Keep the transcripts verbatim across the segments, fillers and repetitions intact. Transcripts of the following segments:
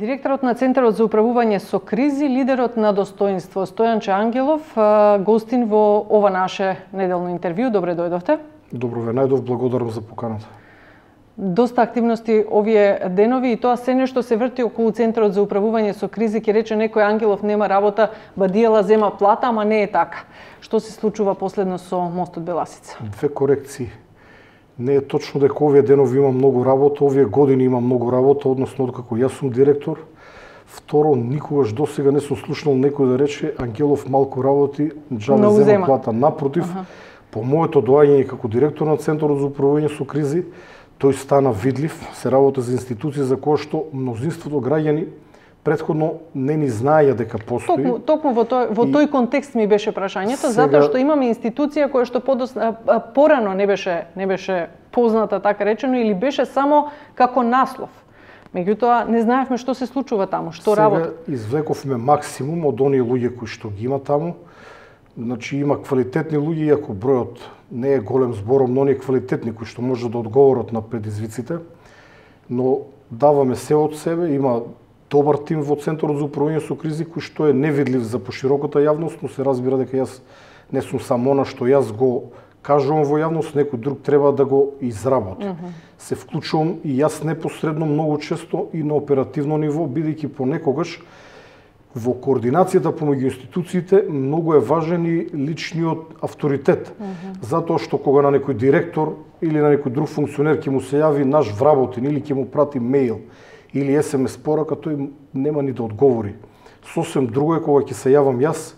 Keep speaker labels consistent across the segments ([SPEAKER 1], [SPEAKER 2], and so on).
[SPEAKER 1] Директорот на Центарот за управување со кризи, лидерот на достоинство Стојанче Ангелов, гостин во ова наше неделно интервју. Добре дојдовте.
[SPEAKER 2] Добро ве најдов, благодарам за поканата.
[SPEAKER 1] Доста активности овие денови и тоа се нешто се врти околу Центарот за управување со кризи. Ке рече некој Ангелов нема работа, Бадијела зема плата, ама не е така. Што се случува последно со мостот Беласица?
[SPEAKER 2] Две корекции. Не е точно дека овие денови има многу работа, овие години има многу работа, односно откако јас сум директор. Второ, никогаш досега не сум слушнал некој да рече Ангелов малку работи, џабе зема, зема плата. Напротив, ага. По моето доаѓање како директор на Центарот за управување со кризи, тој стана видлив, се работи за институции за кои што мнозинството граѓани претходно не ни знаеја дека постои.
[SPEAKER 1] Токму, токму во тој во тој контекст ми беше прашањето, сега... затоа што имаме институција која што подос, порано не беше не беше позната, така речено, или беше само како наслов. Меѓутоа не знаевме што се случува таму, што работи.
[SPEAKER 2] Сега извлековме максимум од оние луѓе кои што ги има таму. Значи има квалитетни луѓе, иако бројот не е голем збором, но оние квалитетни кои што можат да одговорат на предизвиците, но даваме се од себе, има добар тим во Центарот за управување со кризи кој што е невидлив за пошироката јавност, но се разбира дека јас не сум само она што јас го кажувам во јавност, некој друг треба да го изработи. Mm -hmm. Се вклучувам и јас непосредно многу често и на оперативно ниво, бидејќи понекогаш во координацијата помеѓу институциите многу е важен и личниот авторитет. Mm -hmm. Затоа што кога на некој директор или на некој друг функционер ќе му се јави наш вработен или ќе му прати мејл или ес ем ес порака, тој нема ни да одговори. Сосем друго е кога ќе се јавам јас,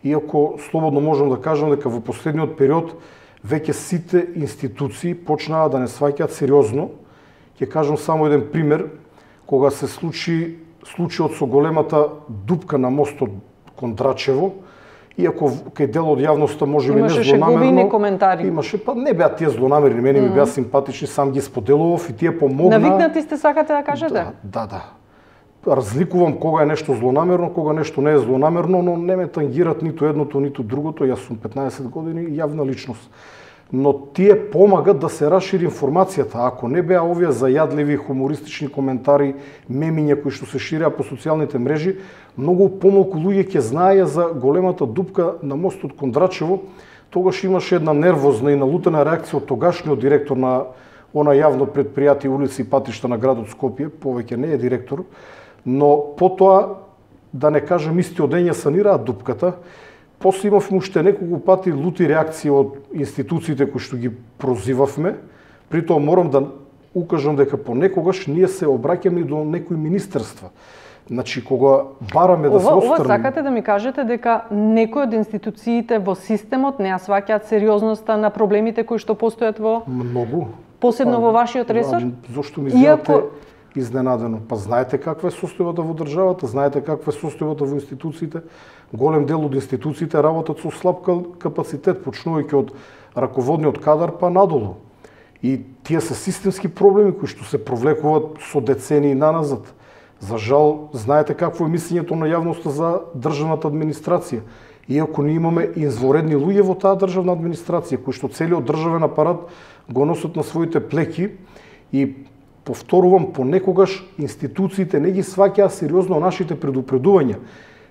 [SPEAKER 2] иако слободно можам да кажам дека во последниот период веќе сите институции почнаа да не сваќаат сериозно. Ќе кажам само еден пример, кога се случи случајот со големата дупка на мостот кон Драчево, иако кај дел од јавноста можеби не злонамерно
[SPEAKER 1] коментари.
[SPEAKER 2] Имаше, па не беа тие злонамерни, мене mm -hmm. ми беа симпатични, сам ги споделував и тие помогнаа.
[SPEAKER 1] Навикнати сте, сакате да кажете?
[SPEAKER 2] Да, да, да. Разликувам кога е нешто злонамерно, кога нешто не е злонамерно, но не ме тангират ниту едното, ниту другото. Јас сум петнаесет години јавна личност. Но тие помагат да се расшири информацијата. Ако не беа овие зајадливи хумористични коментари, мемиња кои што се ширеа по социјалните мрежи, многу помалку луѓе ќе знаеја за големата дупка на мостот кон Драчево. Тогаш имаше една нервозна и налутена реакција од тогашниот директор на она јавно предпријатие улици и патишта на градот Скопје, повеќе не е директор, но потоа, да не кажам, истиот ден ја санираа дупката. После имавме уште неколку пати лути реакции од институциите кои што ги прозивавме. При тоа морам да укажам дека понекогаш ние се обраќаме до некои министерства. Значи, кога бараме да се
[SPEAKER 1] острани...
[SPEAKER 2] острани...
[SPEAKER 1] Ова сакате да ми кажете дека некои од институциите во системот не ја сваќаат сериозноста на проблемите кои што постојат во...
[SPEAKER 2] Многу.
[SPEAKER 1] Посебно а, во вашиот ресор?
[SPEAKER 2] Зошто ми изгледате
[SPEAKER 1] Иако...
[SPEAKER 2] изненадено? Па знаете каква е состојбата во државата, знаете каква е состојбата во институциите. Голем дел од институциите работат со слаб капацитет, почнувајќи од раководниот кадар па надолу. И тие се системски проблеми кои што се провлекуваат со децении наназад. За жал, знаете какво е мислењето на јавноста за државната администрација. Иако ние имаме изворедни луѓе во таа државна администрација, кои што целиот државен апарат го носат на своите плеки и повторувам, понекогаш институциите не ги сваќаа сериозно нашите предупредувања.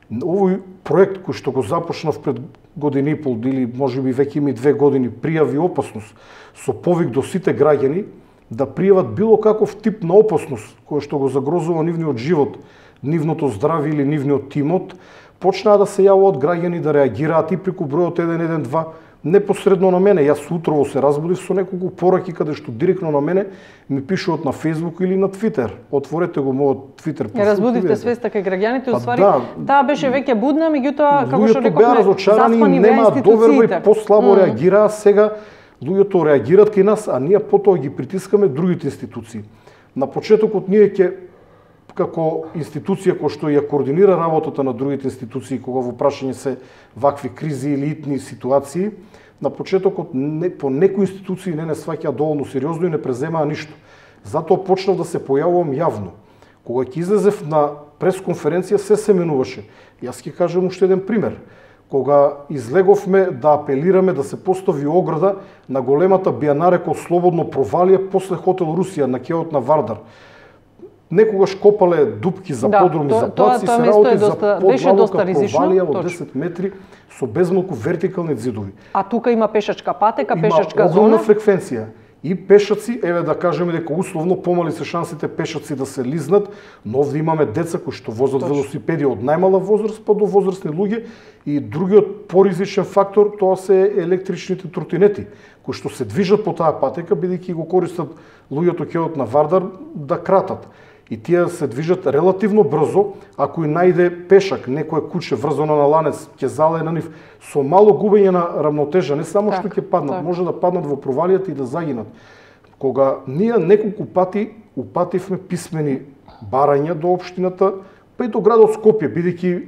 [SPEAKER 2] Овој проект кој што го започнав пред година и пол или можеби веќе има и две години, пријави опасност со повик до сите граѓани да пријават било каков тип на опасност која што го загрозува нивниот живот, нивното здравје или нивниот имот, почнаа да се јавуваат граѓани да реагираат и преку бројот еден еден два непосредно на мене. Јас утрово се разбудив со неколку пораки каде што директно на мене ми пишуваат на Facebook или на Twitter. Отворете го мојот Twitter профил.
[SPEAKER 1] Разбудивте свеста кај граѓаните,
[SPEAKER 2] па,
[SPEAKER 1] уствари
[SPEAKER 2] да,
[SPEAKER 1] таа беше веќе будна, меѓутоа како што рековме,
[SPEAKER 2] беа разочарани, нема доверба и послабо mm. реагираа. Сега луѓето реагираат кај нас, а ние потоа ги притискаме другите институции. На почетокот ние ќе како институција која што ја координира работата на другите институции кога во прашање се вакви кризи или итни ситуации, на почетокот не, по некои институции не не сваќаа доволно сериозно и не преземаа ништо. Затоа почнав да се појавувам јавно. Кога ќе излезев на пресконференција, се се менуваше. Јас ќе кажам уште еден пример. Кога излеговме да апелираме да се постави ограда на големата бијанаре кој слободно провалија после хотел Русија на кеот на Вардар. некогаш копале дупки за
[SPEAKER 1] да,
[SPEAKER 2] подруми,
[SPEAKER 1] то,
[SPEAKER 2] за плаци, се работи за подлабока провалија од десет метри со безмалку вертикални ѕидови.
[SPEAKER 1] А тука има пешачка патека,
[SPEAKER 2] има
[SPEAKER 1] пешачка зона.
[SPEAKER 2] огромна фреквенција. И пешаци, еве да кажеме дека условно помали се шансите пешаци да се лизнат, но овде имаме деца кои што возат Точно. велосипеди од најмала возраст па до возрастни луѓе, и другиот поризичен фактор тоа се електричните тротинети кои што се движат по таа патека бидејќи го користат луѓето ќеот на Вардар да кратат. И тие се движат релативно брзо, ако и најде пешак, некое куче врзано на ланец, ќе залее на нив со мало губење на рамнотежа, не само так, што ќе паднат, так. може да паднат во провалијата и да загинат. Кога ние неколку пати упативме писмени барања до општината, па и до градот Скопје, бидејќи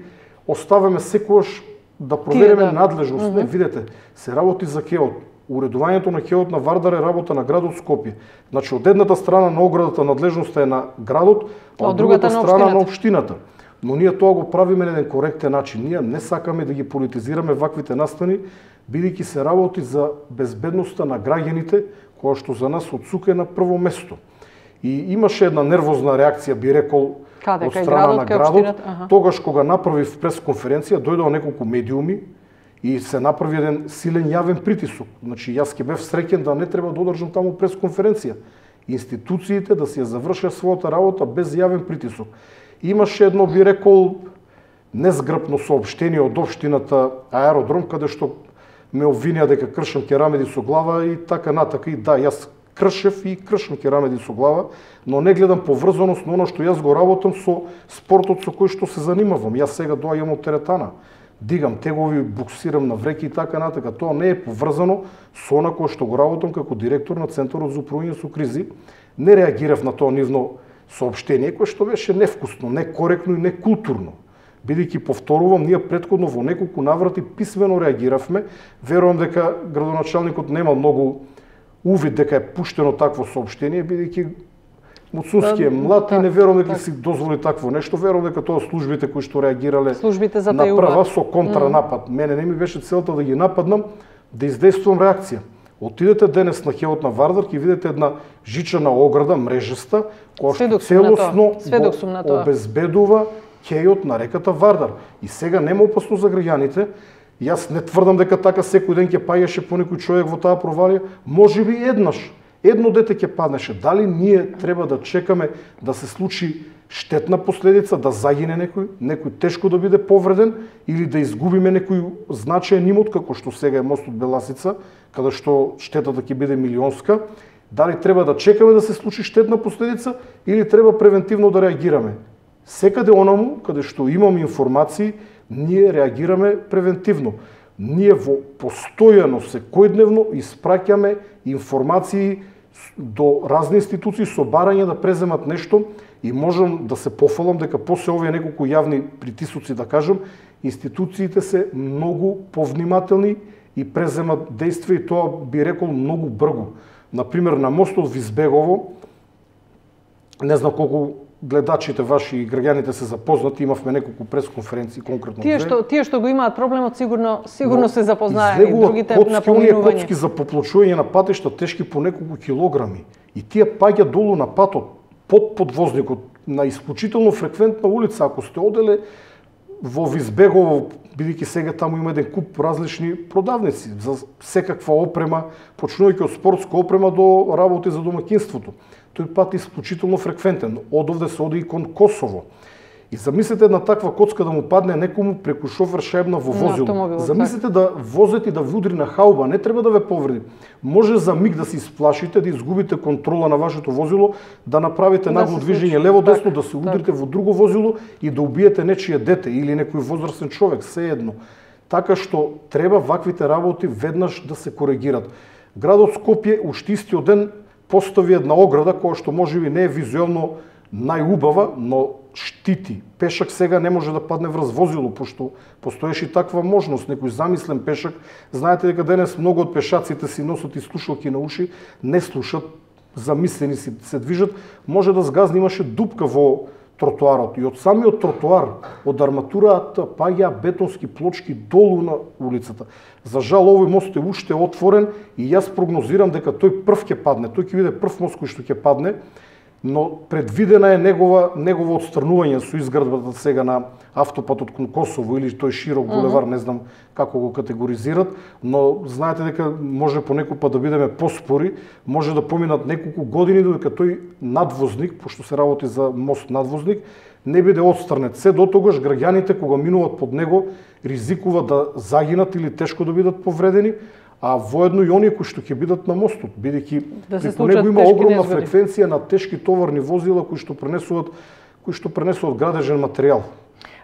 [SPEAKER 2] оставаме секогаш да провериме да. надлежност. Mm -hmm. Не, видете, се работи за ќеот. Уредувањето на ќеот на Вардар е работа на градот Скопје. Значи, од едната страна на оградата надлежноста е на градот, а од другата страна на општината. Но ние тоа го правиме на еден коректен начин. Ние не сакаме да ги политизираме ваквите настани, бидејќи се работи за безбедноста на граѓаните, која што за нас од СУК е на прво место. И имаше една нервозна реакција, би рекол,
[SPEAKER 1] Каде,
[SPEAKER 2] од страна
[SPEAKER 1] градот,
[SPEAKER 2] на градот, тогаш кога направив пресконференција, дојдоа неколку медиуми и се направи еден силен јавен притисок. Значи, јас ќе бев среќен да не треба да одржам таму пресконференција. Институциите да си ја завршат својата работа без јавен притисок. Имаше едно, би рекол, незграпно соопштение од општината Аеродром, каде што ме обвинија дека кршам керамиди со глава и така натака. И да, јас кршев и кршам керамиди со глава, но не гледам поврзаност на оно што јас го работам со спортот со кој што се занимавам. Јас сега доаѓам од теретана, дигам тегови, буксирам на вреки и така натака. Тоа не е поврзано со она кое што го работам како директор на Центарот за управување со кризи. Не реагирав на тоа нивно соопштение, кое што беше невкусно, некоректно и некултурно. Бидејќи, повторувам, ние претходно во неколку наврати писмено реагиравме. Верувам дека градоначалникот нема многу увид дека е пуштено такво соопштение, бидејќи Муцунски е млад и не верувам дека си дозволи такво нешто. Верувам дека тоа службите кои што реагирале на прва со контранапад. Мене не ми беше целта да ги нападнам, да издействувам реакција. Отидете денес на ќеот на Вардар, ќе видите една жичана ограда, мрежеста, која што целосно го обезбедува ќејот на реката Вардар. И сега нема опасно за граѓаните. Јас не тврдам дека така секој ден ќе паѓаше по некој човек во таа провалија, можеби еднаш. Едно дете ќе паднеше. Дали ние треба да чекаме да се случи штетна последица, да загине некој, некој тешко да биде повреден или да изгубиме некој значаен имот, како што сега е мостот Беласица, каде што штетата ќе биде милионска? Дали треба да чекаме да се случи штетна последица или треба превентивно да реагираме? Секаде онаму, каде што имаме информации, ние реагираме превентивно. Ние во постојано, секојдневно испраќаме информации до разни институции со барање да преземат нешто и можам да се пофалам дека после овие неколку јавни притисоци, да кажам, институциите се многу повнимателни и преземат действија и тоа би рекол многу брзо. Например, на мостот Визбегово, не знам колку гледачите ваши и граѓаните се запознати, имавме неколку пресконференции конкретно.
[SPEAKER 1] Тие што тие што го имаат проблемот сигурно сигурно но, се запознаени, другите на поминување.
[SPEAKER 2] Коцки за поплочување на патишта тешки по неколку килограми и тие паѓа долу на патот под подвозникот на исклучително фреквентна улица. Ако сте оделе во Визбегово, бидејќи сега таму има еден куп различни продавници за секаква опрема, почнувајќи од спортска опрема до работи за домаќинството. Тој пат е исклучително фреквентен. Од овде се оди и кон Косово. И замислете една таква коцка да му падне некому преку шофер шаебна во возило. Замислете да возете и да ви удри на хауба, не треба да ве повреди. Може за миг да се исплашите, да изгубите контрола на вашето возило, да направите нагло движење лево-десно, да се удрите во друго возило и да убиете нечие дете или некој возрастен човек, се едно. Така што треба ваквите работи веднаш да се коригират. Градот Скопје уште истиот ден постави една ограда која што можеби не е визуелно најубава, но штити. Пешак сега не може да падне врз возило, пошто постоеше таква можност. Некој замислен пешак, знаете дека денес многу од пешаците си носат и слушалки на уши, не слушат, замислени си се движат, може да сгазни, имаше дупка во тротоарот. И од самиот тротоар, од арматурата паѓа бетонски плочки долу на улицата. За жал, овој мост е уште отворен и јас прогнозирам дека тој прв ќе падне. Тој ќе биде прв мост кој што ќе падне. но предвидена е негова негово отстранување со изградбата сега на автопатот кон Косово или тој широк булевар, не знам како го категоризират, но знаете дека може понекогаш да бидеме поспори, може да поминат неколку години додека тој надвозник, пошто се работи за мост надвозник, не биде отстранет. Се дотогаш граѓаните кога минуваат под него ризикуваат да загинат или тешко да бидат повредени, а воедно и оние кои што ќе бидат на мостот, бидејќи
[SPEAKER 1] да
[SPEAKER 2] преку него има огромна фреквенција на тешки товарни возила кои што пренесуваат кои што пренесуваат градежен материјал.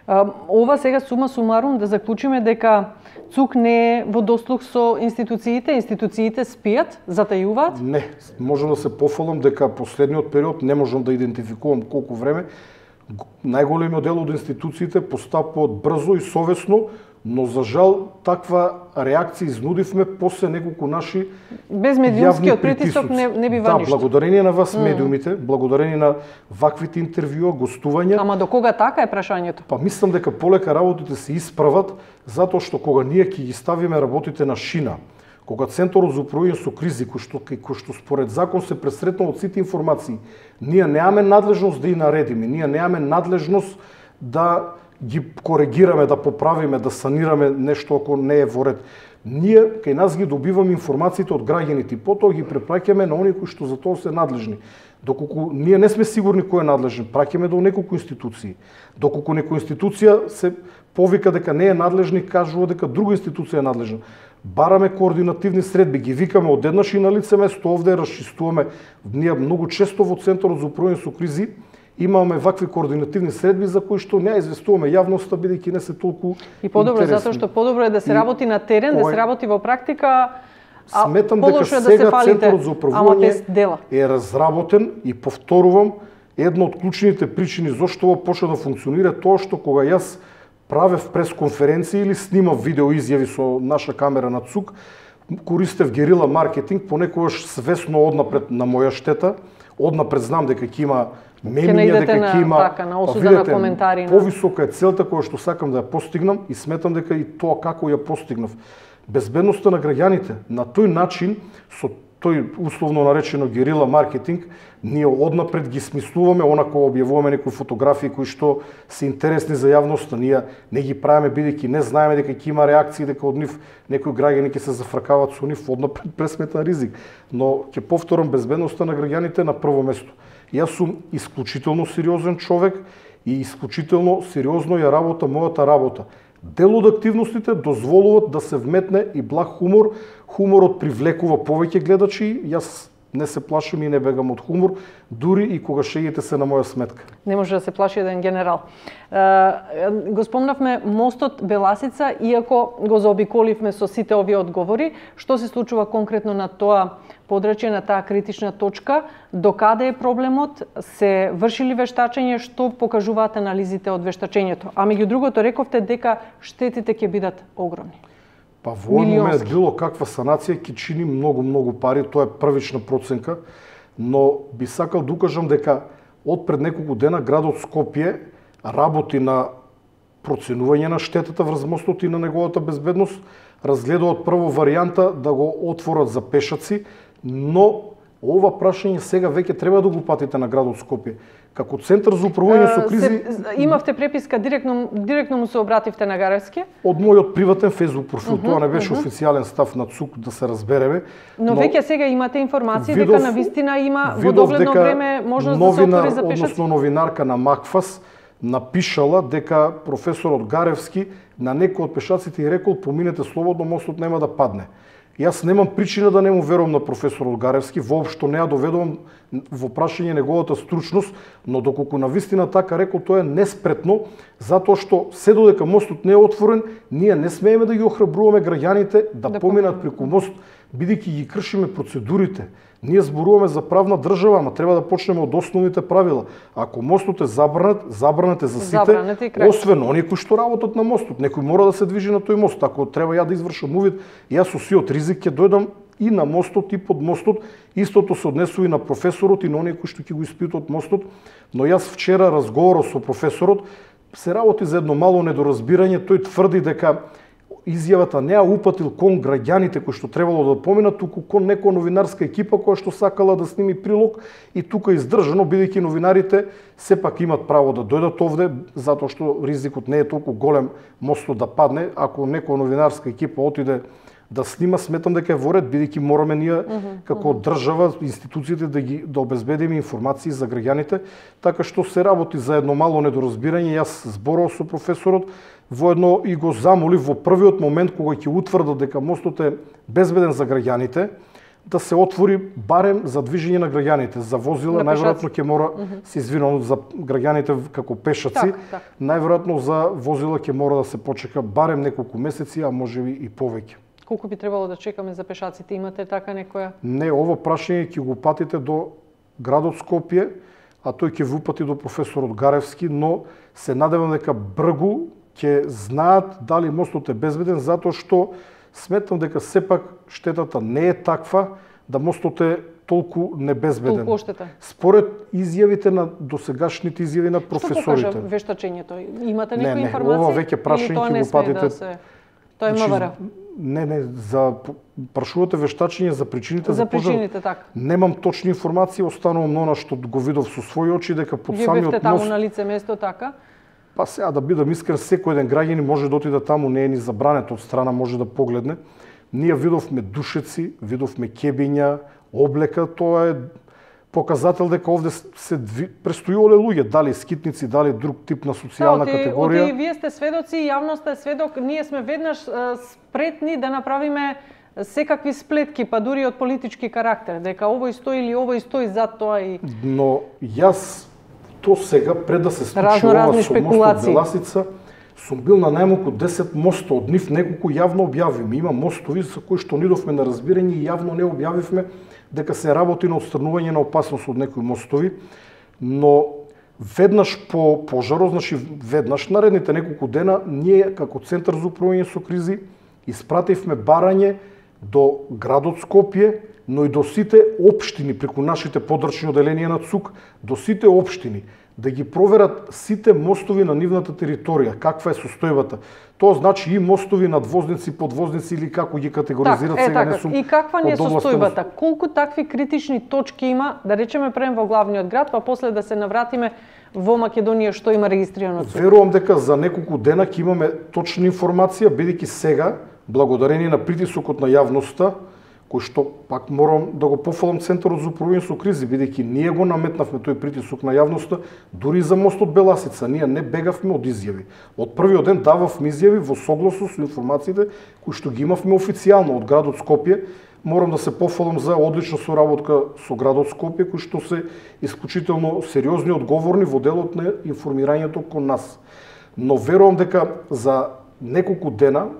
[SPEAKER 1] Ова сега сума сумарум да заклучиме дека ЦУК не е во дослух со институциите, институциите спијат, затајуваат?
[SPEAKER 2] Не, можам да се пофалам дека последниот период не можам да идентификувам колку време. Најголемиот дел од институциите постапуваат брзо и совесно, но за жал таква реакција изнудивме после неколку наши
[SPEAKER 1] без медиумскиот притисок не, не бива
[SPEAKER 2] да,
[SPEAKER 1] ништо.
[SPEAKER 2] Да, благодарение на вас медиумите, mm. благодарение на ваквите интервјуа, гостувања.
[SPEAKER 1] Ама до кога така е прашањето?
[SPEAKER 2] Па мислам дека полека работите се исправат, затоа што кога ние ќе ги ставиме работите на шина, кога Центарот за управување со кризи, кој што, кој што според закон се пресретнал од сите информации, ние немаме надлежност да и наредиме, ние немаме надлежност да ги коригираме, да поправиме, да санираме нешто ако не е во ред. Ние кај нас ги добиваме информациите од граѓаните, потоа ги препраќаме на оние кои што за тоа се надлежни. Доколку ние не сме сигурни кој е надлежен, праќаме до неколку институции. Доколку некоја институција се повика дека не е надлежна и кажува дека друга институција е надлежна. Бараме координативни средби, ги викаме одеднаш и на лице место овде расчистуваме. Ние многу често во Центарот за управување со кризи имаме вакви координативни средби за кои што не известуваме јавноста бидејќи не се толку
[SPEAKER 1] и подобро
[SPEAKER 2] интересни.
[SPEAKER 1] Затоа што подобро е да се работи на терен, да се работи во практика. А
[SPEAKER 2] сметам дека
[SPEAKER 1] сега
[SPEAKER 2] да Центарот за управување е разработен и повторувам, една од клучните причини зошто ова почна да функционира тоа што кога јас правев пресконференција или снимав видео изјави со наша камера на ЦУК, користев герила маркетинг, понекогаш свесно однапред на моја штета, однапред знам дека ќе има мемиња, дека ќе има
[SPEAKER 1] така, на осуда на коментари.
[SPEAKER 2] Повисока е целта која што сакам да ја постигнам и сметам дека и тоа како ја постигнав. Безбедноста на граѓаните. На тој начин, со тој условно наречено герила маркетинг, ние однапред ги смислуваме, онако објавуваме некои фотографии кои што се интересни за јавноста. Ние не ги правиме бидејќи не знаеме дека ќе има реакции, дека од нив некои граѓани ќе се зафркават со нив, однапред пресметен ризик. Но ќе повторам, безбедноста на граѓаните на прво место. Јас сум исклучително сериозен човек и исклучително сериозно ја работа мојата работа. Дел од активностите дозволуваат да се вметне и благ хумор. Хуморот привлекува повеќе гледачи. Јас не се плашам и не бегам од хумор, дури и кога шегите се на моја сметка.
[SPEAKER 1] Не може да се плаши еден генерал. Го спомнавме мостот Беласица, иако го заобиколивме со сите овие одговори. Што се случува конкретно на тоа подрачје, на таа критична точка? Докаде е проблемот? Се врши ли вештачење? Што покажуваат анализите од вештачењето? А меѓу другото рековте дека штетите ќе бидат огромни.
[SPEAKER 2] Па во овој момент било каква санација ќе чини многу, многу пари, тоа е првична проценка, но би сакал да укажам дека од пред неколку дена градот Скопје работи на проценување на штетата врз мостот и на неговата безбедност, разгледуваат прво варијанта да го отворат за пешаци, но ова прашање сега веќе треба да го патите на градот Скопје. Како Центар за управување со кризи...
[SPEAKER 1] Се, имавте преписка, директно, директно му се обративте на Гаревски?
[SPEAKER 2] Од мојот приватен фейсбук профил, uh -huh, тоа не беше uh -huh. официјален став на ЦУК, да се разбереме.
[SPEAKER 1] Но, но веќе сега имате информација дека на вистина има во догледно време можност да се отвори за пешаци?
[SPEAKER 2] Односно новинарка на Макфас напишала дека професорот Гаревски на некој од пешаците и рекол поминете слободно, мостот нема да падне. Јас немам причина да не му верувам на професорот Гаревски, воопшто не ја доведувам во прашање неговата стручност, но доколку на вистина така рекол, тоа е неспретно, затоа што се додека мостот не е отворен, ние не смееме да ги охрабруваме граѓаните да, да поминат преку мост, бидејќи ги кршиме процедурите. Ние зборуваме за правна држава, ама треба да почнеме од основните правила. Ако мостот е забранет, забранет е за сите, освен оние кои што работат на мостот. Некој мора да се движи на тој мост. Ако треба ја да извршам увид, јас со сиот ризик ќе дојдам и на мостот и под мостот. Истото се однесува и на професорот и на оние кои што ќе го испитуваат мостот. Но јас вчера разговарав со професорот, се работи за едно мало недоразбирање. Тој тврди дека изјавата не ја упатил кон граѓаните кои што требало да поминат, туку кон некоја новинарска екипа која што сакала да сними прилог и тука издржано, бидејќи новинарите сепак имат право да дојдат овде, затоа што ризикот не е толку голем мостот да падне. Ако некоја новинарска екипа отиде да снима, сметам дека е во ред, бидејќи мораме ние uh -huh, како uh -huh. држава, институциите да ги да обезбедиме информации за граѓаните, така што се работи за едно мало недоразбирање. Јас зборував со професорот, воедно и го замолив во првиот момент кога ќе утврдат дека мостот е безбеден за граѓаните, да се отвори барем за движење на граѓаните, за возила, најверојатно ќе мора uh -huh. се извинувам за граѓаните како пешаци, так, так. најверојатно за возила ќе мора да се почека барем неколку месеци, а можеби и повеќе.
[SPEAKER 1] Колку би требало да чекаме за пешаците? Имате така некоја?
[SPEAKER 2] Не, ово прашање ќе го патите до градот Скопје, а тој ќе ви упати до професорот Гаревски, но се надевам дека бргу ќе знаат дали мостот е безбеден, затоа што сметам дека сепак штетата не е таква да мостот е толку небезбеден.
[SPEAKER 1] Толку оштета.
[SPEAKER 2] Според изјавите на досегашните изјави на професорите.
[SPEAKER 1] Што покажа вештачењето? Имате некоја
[SPEAKER 2] не, не,
[SPEAKER 1] информација?
[SPEAKER 2] Ова веќе прашање ќе го патите.
[SPEAKER 1] Да се... Тоа е МВР.
[SPEAKER 2] Не, не, за прашувате вештачење за причините за,
[SPEAKER 1] за
[SPEAKER 2] пожар.
[SPEAKER 1] причините, така.
[SPEAKER 2] Немам точни информации, останувам на она што го видов со своји очи, дека под
[SPEAKER 1] Вие
[SPEAKER 2] самиот
[SPEAKER 1] бевте таму
[SPEAKER 2] мост...
[SPEAKER 1] на лице место, така?
[SPEAKER 2] Па сега да бидам искрен, секој еден граѓанин може да отиде таму, не е ни забрането од страна, може да погледне. Ние видовме душеци, видовме кебиња, облека, тоа е показател дека овде се престојувале луѓе, дали скитници, дали друг тип на социјална
[SPEAKER 1] да,
[SPEAKER 2] категорија.
[SPEAKER 1] Оти вие сте сведоци, јавноста е сведок, ние сме веднаш спретни да направиме секакви сплетки, па дури од политички карактер, дека овој стои или овој стои зад тоа и...
[SPEAKER 2] Но јас то сега, пред да се случи
[SPEAKER 1] Разно,
[SPEAKER 2] ова
[SPEAKER 1] разни
[SPEAKER 2] со мостот
[SPEAKER 1] спекулации.
[SPEAKER 2] Беласица, сум бил на најмалку десет моста, од нив неколку јавно објавивме. Има мостови за кои што нидовме на разбирање и јавно не објавивме дека се работи на отстранување на опасност од некои мостови, но веднаш по пожарот, значи веднаш наредните неколку дена, ние како Центар за управување со кризи испративме барање до градот Скопје, но и до сите општини преку нашите подрачни оделенија на ЦУК, до сите општини, да ги проверат сите мостови на нивната територија, каква е состојбата. Тоа значи и мостови, надвозници, подвозници или како ги категоризират,
[SPEAKER 1] так,
[SPEAKER 2] сега
[SPEAKER 1] е,
[SPEAKER 2] не сум.
[SPEAKER 1] И каква не е состојбата?
[SPEAKER 2] На...
[SPEAKER 1] Колку такви критични точки има, да речеме прем во главниот град, па после да се навратиме во Македонија што има регистрирано ЦУК?
[SPEAKER 2] Верувам дека за неколку дена ќе имаме точна информација, бидејќи сега, благодарение на притисокот на јавноста, кој што пак морам да го пофалам Центарот за управување со кризи, бидејќи ние го наметнавме тој притисок на јавноста, дури за мостот Беласица, ние не бегавме од изјави. Од првиот ден дававме изјави во согласно со информациите кои што ги имавме официјално од градот Скопје. Морам да се пофалам за одлична соработка со градот Скопје, кои што се исклучително сериозни и одговорни во делот на информирањето кон нас. Но верувам дека за неколку дена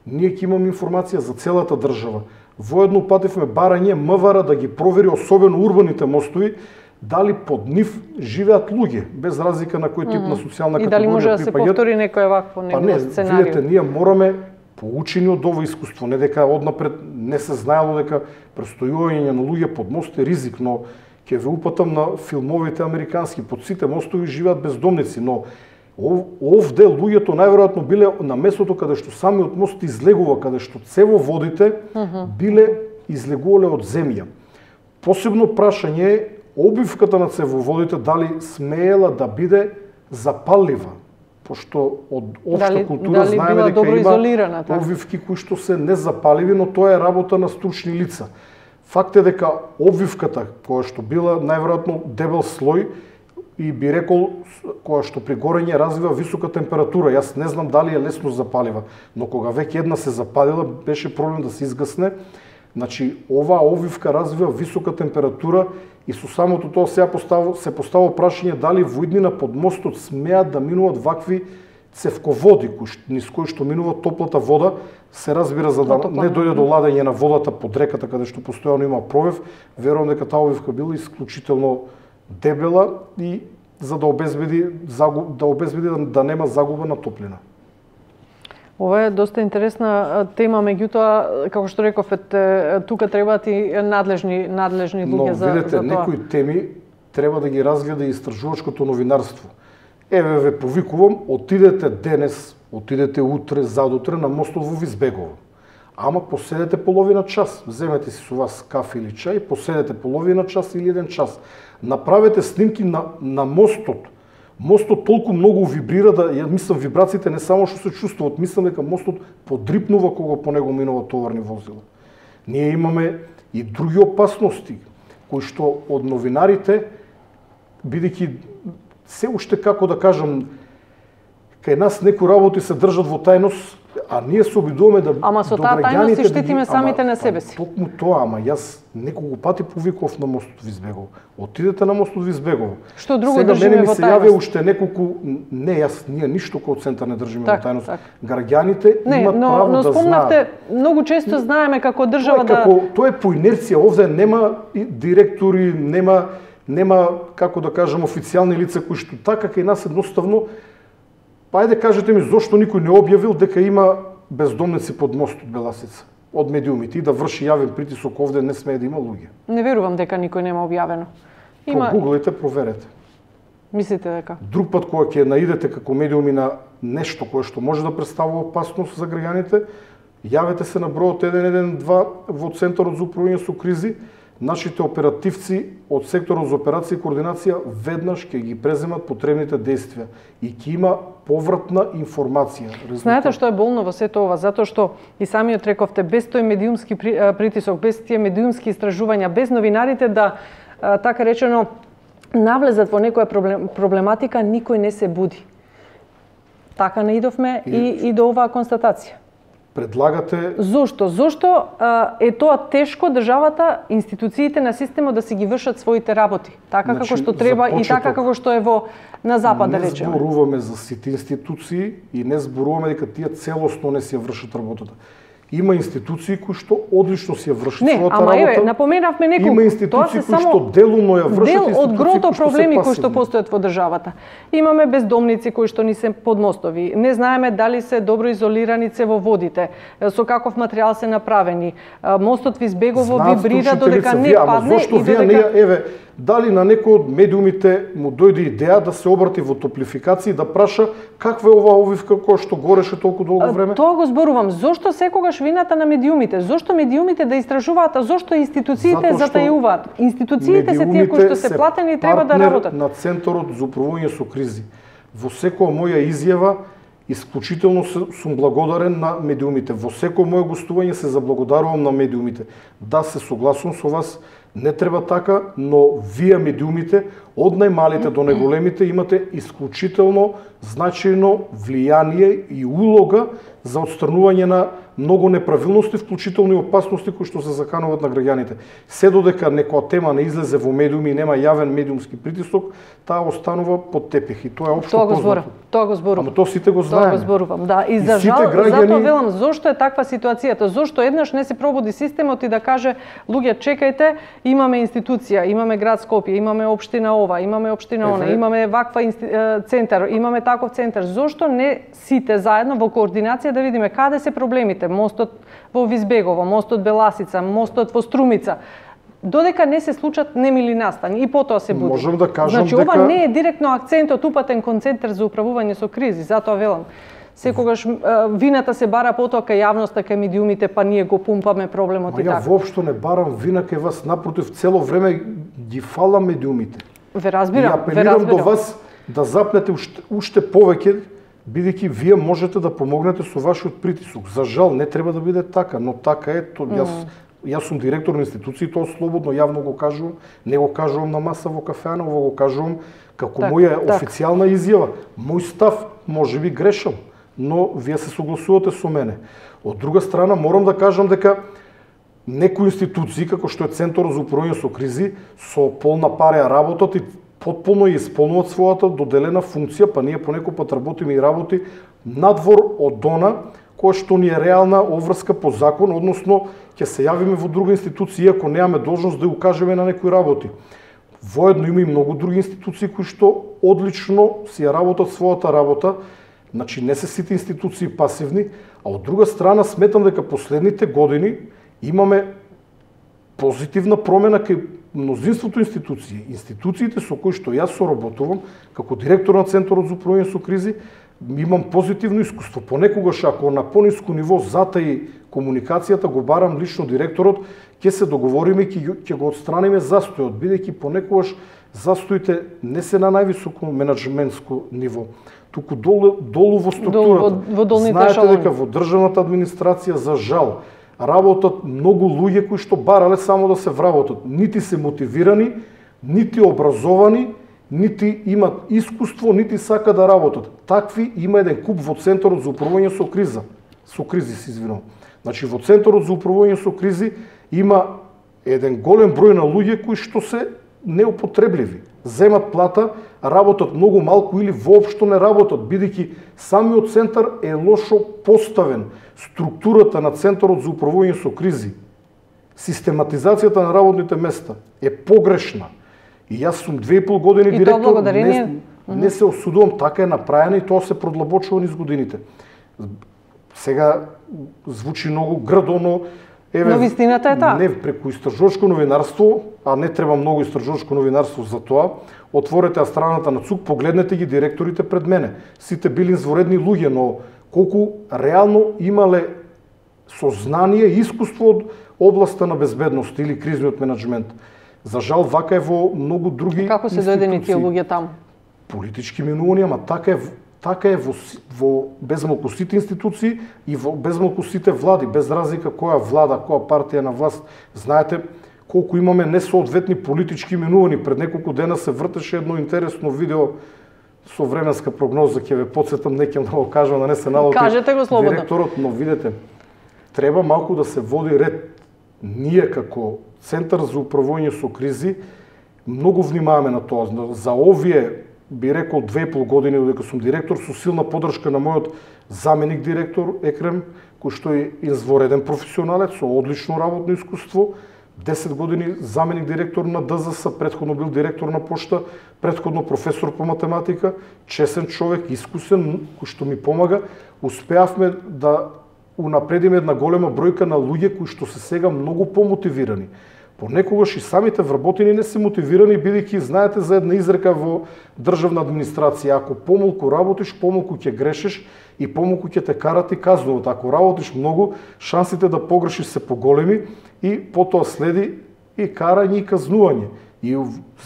[SPEAKER 2] ние ќе имаме информација за целата држава. Воедно упативме барање МВР да ги провери, особено урбаните мостови, дали под нив живеат луѓе, без разлика на кој тип mm -hmm. на социјална категорија.
[SPEAKER 1] И дали може да се повтори некој вакво негово сценарио?
[SPEAKER 2] Па не, видите, ние мораме поучени од ова искуство, не дека однапред не се знаело дека престојување на луѓе под мост е ризик, но ќе ве упатам на филмовите американски, под сите мостови живеат бездомници, но овде луѓето најверојатно биле на местото каде што самиот мост излегува, каде што цево водите биле излегувале од земја. Посебно прашање е обивката на цевоводите дали смеела да биде запаллива, пошто од општа
[SPEAKER 1] дали,
[SPEAKER 2] култура
[SPEAKER 1] дали
[SPEAKER 2] знаеме дека има
[SPEAKER 1] така?
[SPEAKER 2] обвивки кои што се незапаливи, но тоа е работа на стручни лица. Факт е дека обвивката, која што била најверојатно дебел слој, и би рекол, која што при горење развива висока температура. Јас не знам дали е лесно запалива, но кога веќе една се запалила, беше проблем да се изгасне. Значи, оваа обвивка развива висока температура и со самото тоа се поставува, се поставува прашање дали во иднина под мостот смеат да минуваат вакви цевководи, кои, низ кои што минува топлата вода, се разбира за да не дојде до ладење на водата под реката, каде што постојано има провев. Верувам дека таа обвивка била исклучително дебела и за да обезбеди да обезбеди да, да нема загуба на топлина.
[SPEAKER 1] Ова е доста интересна тема, меѓутоа, како што реков, тука требаат и надлежни надлежни луѓе за,
[SPEAKER 2] видите,
[SPEAKER 1] за тоа.
[SPEAKER 2] Но некои теми треба да ги разгледа и истражувачкото новинарство. Еве ве повикувам, отидете денес отидете утре, задутре на мостот во Визбегово. Ама поседете половина час, земете си со вас кафе или чај, поседете половина час или еден час. Направете снимки на, на мостот. Мостот толку многу вибрира да, ја мислам, вибрациите не само што се чувствуваат, мислам дека мостот подрипнува кога по него минува товарни возила. Ние имаме и други опасности, кои што од новинарите, бидејќи се уште, како да кажам, кај нас некои работи се држат во тајност, а ние се обидуваме да
[SPEAKER 1] Ама со таа тајност и штитиме самите на себе си.
[SPEAKER 2] Токму тоа, ама јас неколку пати повикував на мостот Визбегово. Отидете на мостот Визбегово.
[SPEAKER 1] Што друго
[SPEAKER 2] Сега
[SPEAKER 1] држиме
[SPEAKER 2] мене ми
[SPEAKER 1] во
[SPEAKER 2] се
[SPEAKER 1] тајност?
[SPEAKER 2] јавија уште неколку, не јас, ние ништо кој центар не држиме
[SPEAKER 1] Так,
[SPEAKER 2] во тајност.
[SPEAKER 1] так.
[SPEAKER 2] Граѓаните
[SPEAKER 1] Не,
[SPEAKER 2] имат
[SPEAKER 1] но,
[SPEAKER 2] право
[SPEAKER 1] но
[SPEAKER 2] да
[SPEAKER 1] спомнавте,
[SPEAKER 2] знаат.
[SPEAKER 1] многу често знаеме како
[SPEAKER 2] Тоа
[SPEAKER 1] држава
[SPEAKER 2] е
[SPEAKER 1] да...
[SPEAKER 2] како, тоа е по инерција, овде нема и директори, нема нема како да кажам официјални лица кои што така кај нас едноставно, па ајде кажете ми зошто никој не објавил дека има бездомници под мостот Беласица од медиумите и да врши јавен притисок овде не смее да има луѓе.
[SPEAKER 1] Не верувам дека никој нема објавено. Има...
[SPEAKER 2] Прогуглајте, проверете.
[SPEAKER 1] Мислите дека?
[SPEAKER 2] Друг пат кога ќе наидете како медиуми на нешто кое што може да представува опасност за граѓаните, јавете се на бројот еден еден два во Центарот за управување со кризи. Нашите оперативци од секторот за операција и координација веднаш ќе ги преземат потребните действија и ќе има повратна информација. Резултат.
[SPEAKER 1] Знаете што е болно во сето ова? Затоа што и самиот рековте, без тој медиумски притисок, без тие медиумски истражувања, без новинарите да, така речено, навлезат во некоја проблематика, никој не се буди. Така наидовме и, и, и до оваа констатација.
[SPEAKER 2] Предлагате...
[SPEAKER 1] Зошто? Зошто а, е тоа тешко државата, институциите на системот да си ги вршат своите работи, така значи, како што треба и така како што е во на запад, да речеме.
[SPEAKER 2] Не зборуваме за сите институции и не зборуваме дека тие целосно не си ја вршат работата. Има институции кои што одлично си ја вршат
[SPEAKER 1] не,
[SPEAKER 2] својата
[SPEAKER 1] ама
[SPEAKER 2] работа.
[SPEAKER 1] Еве, напоменавме неколку.
[SPEAKER 2] Има институции кои што делумно ја вршат,
[SPEAKER 1] дел од грото проблеми кои што
[SPEAKER 2] пасивни.
[SPEAKER 1] постојат во државата. Имаме бездомници кои што ни се под мостови. Не знаеме дали се добро изолирани цевоводите, со каков материјал се направени. Мостот Визбегово вибрира додека не падне
[SPEAKER 2] зошто
[SPEAKER 1] и
[SPEAKER 2] вие
[SPEAKER 1] додека...
[SPEAKER 2] не, еве, дали на некој од медиумите му дојде идеја да се обрати во топлификација и да праша каква е оваа обвивка која што гореше толку долго време?
[SPEAKER 1] Тоа го зборувам. Зошто секогаш вината на медиумите? Зошто медиумите да истражуваат, а зошто институциите затајуваат? Институциите се тие кои што се платени и треба да работат.
[SPEAKER 2] На Центарот за управување со кризи. Во секоја моја изјава исклучително сум благодарен на медиумите. Во секој моје гостување се заблагодарувам на медиумите. Да, се согласувам со вас, не треба така, но вие медиумите, од најмалите до најголемите, имате исклучително значајно влијание и улога за отстранување на многу неправилности, вклучително и опасности кои што се закануваат на граѓаните. Се додека некоја тема не излезе во медиуми и нема јавен медиумски притисок, таа останува под тепех и тоа е општо познато.
[SPEAKER 1] Тоа го зборувам.
[SPEAKER 2] Ама тоа сите го знаеме.
[SPEAKER 1] Тоа го зборувам, да. И,
[SPEAKER 2] И
[SPEAKER 1] за жал,
[SPEAKER 2] граѓани...
[SPEAKER 1] затоа велам, зошто е таква ситуацијата? Зошто еднаш не се пробуди системот и да каже, луѓе, чекајте, имаме институција, имаме град Скопје, имаме општина ова, имаме општина она, имаме ваква инсти... центар, имаме таков центар. Зошто не сите заедно во координација да видиме каде се проблемите? Мостот во Визбегово, мостот Беласица, мостот во Струмица. Додека не се случат немили настани и потоа се буди.
[SPEAKER 2] Можам да кажам
[SPEAKER 1] значи,
[SPEAKER 2] дека...
[SPEAKER 1] ова не е директно акцентот упатен кон Центар за управување со кризи, затоа велам. Секогаш вината се бара потоа кај јавноста, кај медиумите, па ние го пумпаме проблемот
[SPEAKER 2] Ма
[SPEAKER 1] и така.
[SPEAKER 2] Ја воопшто не барам вина кај вас, напротив, цело време ги фалам медиумите.
[SPEAKER 1] Ве разбирам,
[SPEAKER 2] и апелирам
[SPEAKER 1] ве разбирам.
[SPEAKER 2] до вас да запнете уште, уште повеќе, бидејќи вие можете да помогнете со вашиот притисок. За жал не треба да биде така, но така е. То, јас, јас сум директор на институција, тоа слободно, јавно го кажувам, не го кажувам на маса во кафеана, ово го кажувам како
[SPEAKER 1] так,
[SPEAKER 2] моја
[SPEAKER 1] так.
[SPEAKER 2] официјална изјава. Мој став, може би грешам, но вие се согласувате со мене. Од друга страна, морам да кажам дека некои институции, како што е Центарот за управување со кризи, со полна пареја работат и потполно ја исполнуваат својата доделена функција, па ние понекој пат работиме и работи надвор од она која што ни е реална обврска по закон, односно ќе се јавиме во друга институција ако немаме должност да укажеме на некои работи. Воедно има и многу други институции кои што одлично си ја работат својата работа, значи не се сите институции пасивни, а од друга страна сметам дека последните години имаме позитивна промена кај мнозинството институции. Институциите со кои што јас соработувам, како директор на Центарот за управување со кризи, имам позитивно искуство. Понекогаш ако на пониско ниво затаи комуникацијата, го барам лично директорот, ќе се договориме и ќе го отстраниме застојот, бидејќи понекогаш застоите не се на највисоко менаџментско ниво, туку долу, долу во структурата.
[SPEAKER 1] Во, во
[SPEAKER 2] Знаете дека во државната администрација, за жал, работат многу луѓе кои што барале само да се вработат. Нити се мотивирани, нити образовани, нити имат искуство, нити сака да работат. Такви има еден куп во Центарот за управување со криза. Со кризи се извинувам. Значи во Центарот за управување со кризи има еден голем број на луѓе кои што се неупотребливи. Земат плата, работат многу малку или воопшто не работат, бидејќи самиот центар е лошо поставен. Структурата на Центарот за управување со кризи, систематизацијата на работните места е погрешна. И јас сум две и пол години
[SPEAKER 1] и
[SPEAKER 2] директор,
[SPEAKER 1] благодарение...
[SPEAKER 2] не, не се осудувам, така е направено и тоа се продлабочува низ годините. Сега звучи многу грдо, но еве,
[SPEAKER 1] но вистината е таа.
[SPEAKER 2] Не преку истражувачко новинарство, а не треба многу истражувачко новинарство за тоа. Отворете ја страната на ЦУК, погледнете ги директорите пред мене. Сите били изворедни луѓе, но колку реално имале сознание и искуство од областа на безбедност или кризниот менаџмент. За жал, вака е во многу други
[SPEAKER 1] Како се дојдени тие луѓе таму?
[SPEAKER 2] Политички минувања, ама така е, така е во, во безмалку сите институции и во безмалку сите влади, без разлика која влада, која партија на власт. Знаете колку имаме несоодветни политички минувања. Пред неколку дена се вртеше едно интересно видео со временска прогноза, ќе ве потсетам, не ќе да го кажам, да не се налоти
[SPEAKER 1] Кажете го слободно.
[SPEAKER 2] Директорот, но видете, треба малку да се води ред. Ние како Центар за управување со кризи многу внимаваме на тоа. За овие, би рекол, две и пол години додека сум директор, со силна поддршка на мојот заменик директор Екрем, кој што е извореден професионалец со одлично работно искуство, десет години заменик директор на ДЗС, претходно бил директор на Пошта, претходно професор по математика, чесен човек, искусен, кој што ми помага. Успеавме да унапредиме една голема бројка на луѓе кои што се сега многу помотивирани. Понекогаш и самите вработени не се мотивирани, бидејќи знаете за една изрека во државна администрација: ако помалку работиш, помалку ќе грешиш и помалку ќе те карат и казнуват. Ако работиш многу, шансите да погрешиш се поголеми и потоа следи и карање и казнување. И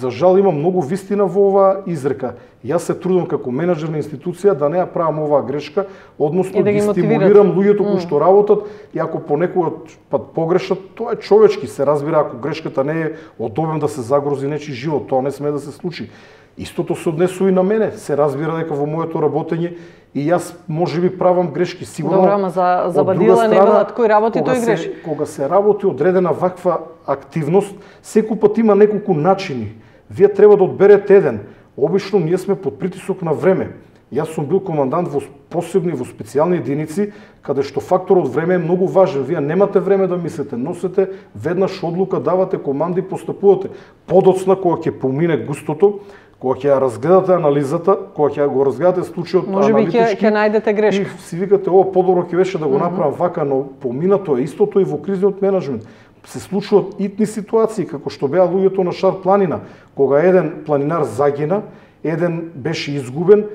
[SPEAKER 2] за жал има многу вистина во оваа изрека. Јас се трудам како менаџер на институција да не ја правам оваа грешка, односно да ги стимулирам луѓето кои што работат и ако понекогаш пат погрешат, тоа е човечки, се разбира, ако грешката не е одобен да се загрози нечи живот, тоа не сме да се случи. Истото се однесува и на мене, се разбира дека во моето работење и јас можеби правам грешки, сигурно.
[SPEAKER 1] Добро, ама за за бадила не велат кој работи тој греши.
[SPEAKER 2] Кога се работи одредена ваква активност, секој пат има неколку начини. Вие треба да одберете еден. Обично ние сме под притисок на време. Јас сум бил командант во посебни, во специјални единици, каде што факторот време е многу важен. Вие немате време да мислите, носете веднаш одлука, давате команди, постапувате. Подоцна кога ќе помине густото, кога ќе ја разгледате анализата, кога ќе го разгледате случајот аналитички,
[SPEAKER 1] може би ќе ќе најдете грешка.
[SPEAKER 2] И си викате, ова подобро ќе беше да го направам вака, но поминато е истото и во кризниот менаџмент. Се случуваат итни ситуации, како што беа луѓето на Шар планина, кога еден планинар загина, еден беше изгубен,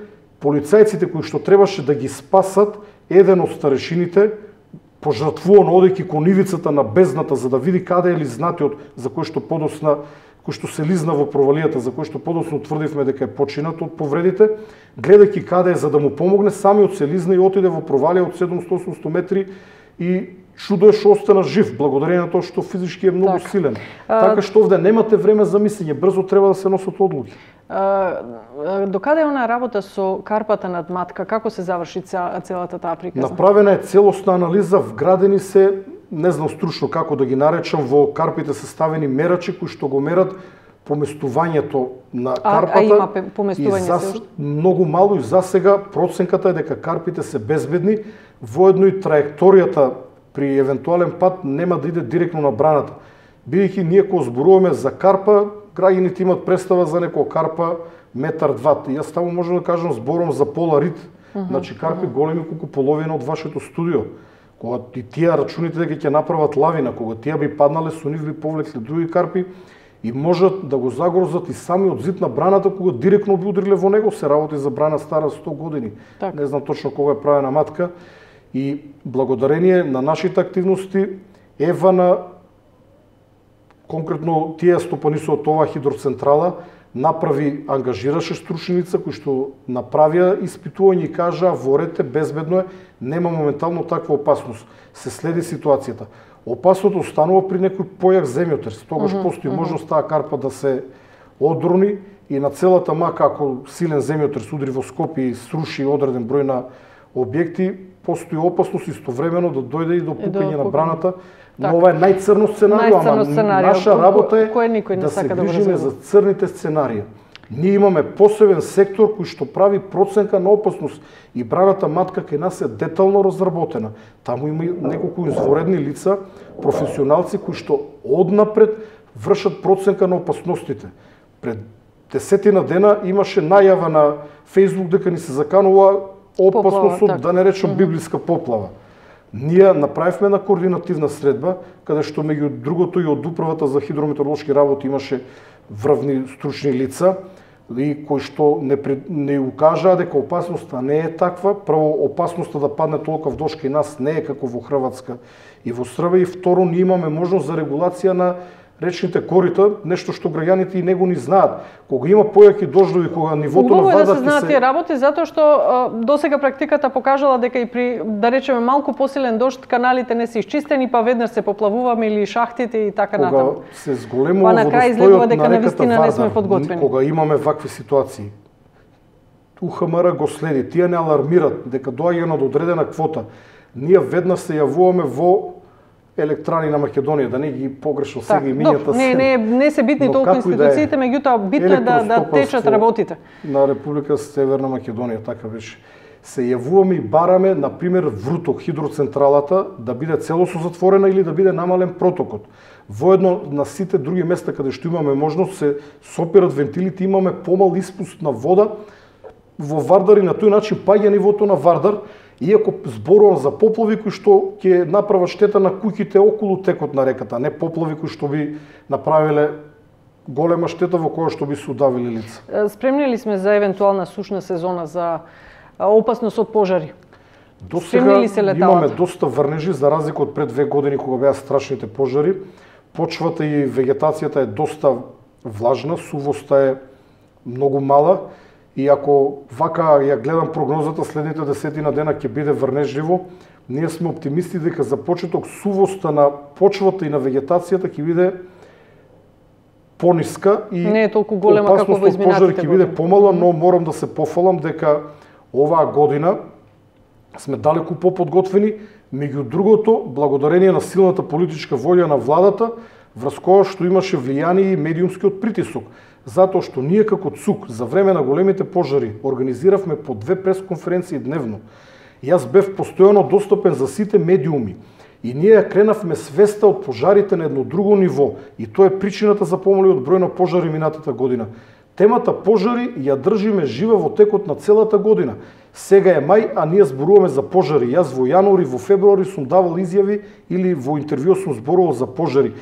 [SPEAKER 2] полицајците кои што требаше да ги спасат, еден од старешините пожртвуван одејќи кон ивицата на бездната за да види каде е лизнатиот за кој што подосна кој што се лизна во провалијата, за кој што подоцна тврдивме дека е починат од повредите, гледајќи каде е за да му помогне, самиот се лизна и отиде во провалија од седумстотини до осумстотини метри и чудо е што остана жив, благодарение на тоа што физички е многу так. силен. А... Така што овде немате време за мислење, брзо треба да се носат одлуки.
[SPEAKER 1] До каде е она работа со карпата над Матка? Како се заврши целата таа приказна?
[SPEAKER 2] Направена е целосна анализа, вградени се, не знам стручно како да ги наречам, во карпите се ставени мерачи кои што го мерат поместувањето на карпата.
[SPEAKER 1] А, а има поместување
[SPEAKER 2] за...
[SPEAKER 1] се уште?
[SPEAKER 2] Многу мало и за сега проценката е дека карпите се безбедни, воедно и траекторијата при евентуален пат нема да иде директно на браната. Бидејќи ние кога зборуваме за карпа, граѓаните имат представа за некоја карпа метар два. Јас таму можам да кажам зборам за поларит, uh -huh, значи карпи uh -huh. големи колку половина од вашето студио. Кога и тие рачуните дека ќе направат лавина, кога тие би паднале, со нив би повлекле други карпи и можат да го загрозат и самиот зид на браната кога директно би удриле во него. Се работи за брана стара сто години. Так. Не знам точно кога е правена матка. И благодарение на нашите активности, ева на конкретно тие стопаниso од оваа хидроцентрала направи, ангажираше стручни лица кои што направија испитување и кажаа ворете, безбедно е, нема моментално таква опасност. Се следи ситуацијата. Опасното останува при некој појак земјотрес. Тогаш uh -huh, постои uh -huh. можност таа карпа да се одрони и на целата мака, ако силен земјотрес удри во Скопје и сруши одреден број на објекти, постои опасност истовремено да дојде и до пукање на браната. Но так. Ова е најцрно сценарио, ама сценарио, наша работа е кој да се грижиме да за црните сценарија. Ние имаме посебен сектор кој што прави проценка на опасност и браната матка кај нас е детално разработена. Таму има неколку изворедни лица, професионалци кои што однапред вршат проценка на опасностите. Пред десетина дена имаше најава на Фејсбук дека ни се заканува опасност од, да не речам, библиска поплава. Ние направивме на координативна средба, каде што меѓу другото и од Управата за хидрометеоролошки работи имаше врвни стручни лица и кои што не, не укажаа дека опасноста не е таква. Прво, опасноста да падне толков дожд кај нас не е како во Хрватска и во Србија, и второ, ние имаме можност за регулација на речните корита, нешто што граѓаните и не го ни знаат. Кога има појаки дождови, кога нивото
[SPEAKER 1] Убаво
[SPEAKER 2] на вадата
[SPEAKER 1] се... Убаво е да се знаат тие работи, затоа што досега практиката покажала дека и при, да речеме, малку посилен дожд, каналите не се изчистени, па веднаш се поплавуваме или шахтите и така
[SPEAKER 2] кога
[SPEAKER 1] натаму.
[SPEAKER 2] Кога се зголемува па, водостојот дека на реката
[SPEAKER 1] не сме
[SPEAKER 2] Вардар,
[SPEAKER 1] подготвени.
[SPEAKER 2] Кога имаме вакви ситуации, У Х М Р го следи, тие не алармират дека доаѓа на одредена квота. Ние веднаш се јавуваме во Електрани на Македонија, да не ги погрешно сега
[SPEAKER 1] так,
[SPEAKER 2] имињата се.
[SPEAKER 1] Не, не, не се битни толку институциите, меѓутоа битно е да, да течат работите.
[SPEAKER 2] На Република Северна Македонија, така беше. Се јавуваме и бараме, например, Вруток, хидроцентралата, да биде целосно затворена или да биде намален протокот. Воедно на сите други места каде што имаме можност се сопират вентилите, имаме помал испуст на вода во Вардар и на тој начин паѓа нивото на Вардар. Иако зборувам за поплави кои што ќе направат штета на куќите околу текот на реката, не поплави кои што би направиле голема штета во која што би се удавили лица.
[SPEAKER 1] Спремни ли сме за евентуална сушна сезона, за опасност од пожари?
[SPEAKER 2] До сега имаме доста врнежи, за разлика од пред две години кога беа страшните пожари. Почвата и вегетацијата е доста влажна, сувоста е многу мала. И ако вака ја гледам прогнозата, следните десетина дена ќе биде врнежливо, ние сме оптимисти дека за почеток сувоста на почвата и на вегетацијата ќе биде пониска и
[SPEAKER 1] не е толку голема како во изминатите
[SPEAKER 2] години. Ќе биде помала, но морам да се пофалам дека оваа година сме далеку поподготвени, меѓу другото, благодарение на силната политичка волја на владата, врз која што имаше влијание и медиумскиот притисок. Затоа што ние како ЦУК за време на големите пожари организиравме по две пресконференции дневно. Јас бев постојано достапен за сите медиуми и ние ја кренавме свеста од пожарите на едно друго ниво и тоа е причината за помалиот број на пожари минатата година. Темата пожари ја држиме жива во текот на целата година. Сега е мај, а ние зборуваме за пожари. Јас во јануари, во февруари сум давал изјави или во интервју сум зборувал за пожари.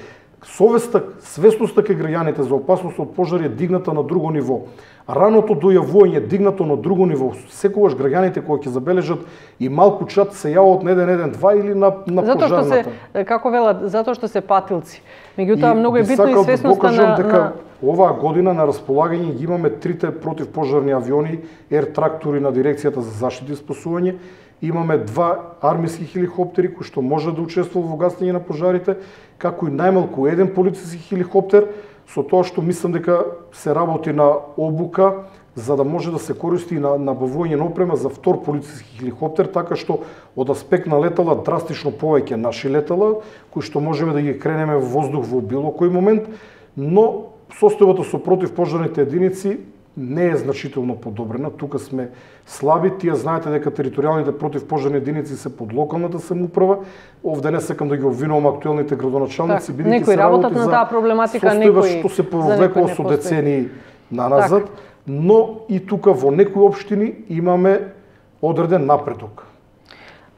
[SPEAKER 2] Совеста, свесноста кај граѓаните за опасност од пожари е дигната на друго ниво. Раното дојавување е дигнато на друго ниво. Секогаш граѓаните кои ќе забележат и малку чат се јават на еден еден два или на на
[SPEAKER 1] затоа
[SPEAKER 2] пожарната.
[SPEAKER 1] Затоа што се, како велат, затоа што се патилци. Меѓутоа многу е битно и свесноста
[SPEAKER 2] да
[SPEAKER 1] на,
[SPEAKER 2] дека
[SPEAKER 1] на
[SPEAKER 2] оваа година на располагање ги имаме трите противпожарни авиони, ер трактори на дирекцијата за заштита и спасување. Имаме два армиски хеликоптери кои што може да учествуваат во гасење на пожарите, како и најмалку еден полициски хеликоптер, со тоа што мислам дека се работи на обука за да може да се користи на набавување на опрема за втор полициски хеликоптер, така што од аспект на летала драстично повеќе наши летала, кои што можеме да ги кренеме во воздух во било кој момент, но состојбата со противпожарните единици не е значително подобрена. Тука сме слаби. Тие знаете дека територијалните противпожарни единици се под локалната самоуправа. Овде не сакам да ги обвинувам актуелните градоначалници,
[SPEAKER 1] бидејќи се работат на таа проблематика, некои
[SPEAKER 2] што се повлекло со децении наназад, так. Но и тука во некои општини имаме одреден напредок.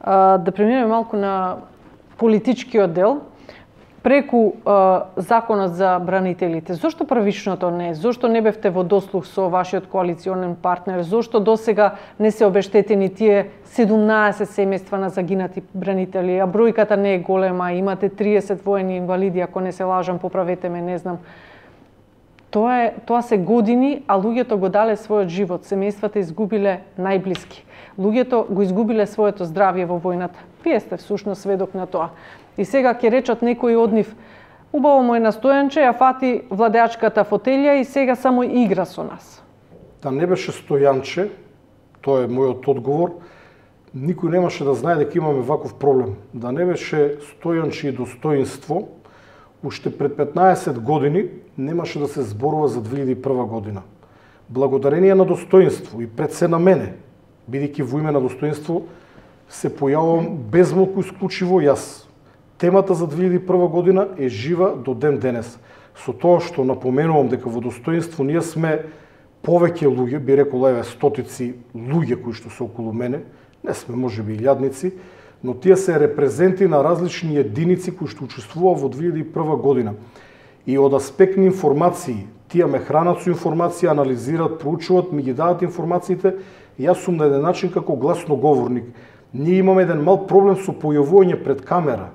[SPEAKER 1] А, да преминеме малку на политичкиот дел. преку а, законот за бранителите. Зошто првичното не? Зошто не бевте во дослух со вашиот коалиционен партнер? Зошто досега не се обештетени тие седумнаесет семејства на загинати бранители? А бројката не е голема, имате триесет воени инвалиди, ако не се лажам, поправете ме, не знам. Тоа е, тоа се години, а луѓето го дале својот живот, семејствата изгубиле најблиски. Луѓето го изгубиле своето здравје во војната. Вие сте всушност сведок на тоа. И сега ќе речат некои од нив, убаво мој настојанче, ја фати владеачката фотелја и сега само игра со нас.
[SPEAKER 2] Да не беше Стојанче, тоа е мојот одговор, никој немаше да знае дека имаме ваков проблем. Да не беше Стојанче и достоинство, уште пред петнаесет години немаше да се зборува за две илјади и прва година. Благодарение на достоинство и пред се на мене, бидејќи во име на достоинство се појавувам безмалку исклучиво јас. Темата за две илјади и прва година е жива до ден денес. Со тоа што напоменувам дека во достоинство ние сме повеќе луѓе, би рекол еве стотици луѓе кои што се околу мене, не сме можеби илјадници, но тие се репрезенти на различни единици кои што учествуваа во две илјади и прва година. И од аспектни информации, тие ме хранат со информација, анализираат, проучуваат, ми ги дадат информациите, јас сум на еден начин како гласноговорник. Ние имаме еден мал проблем со појавување пред камера.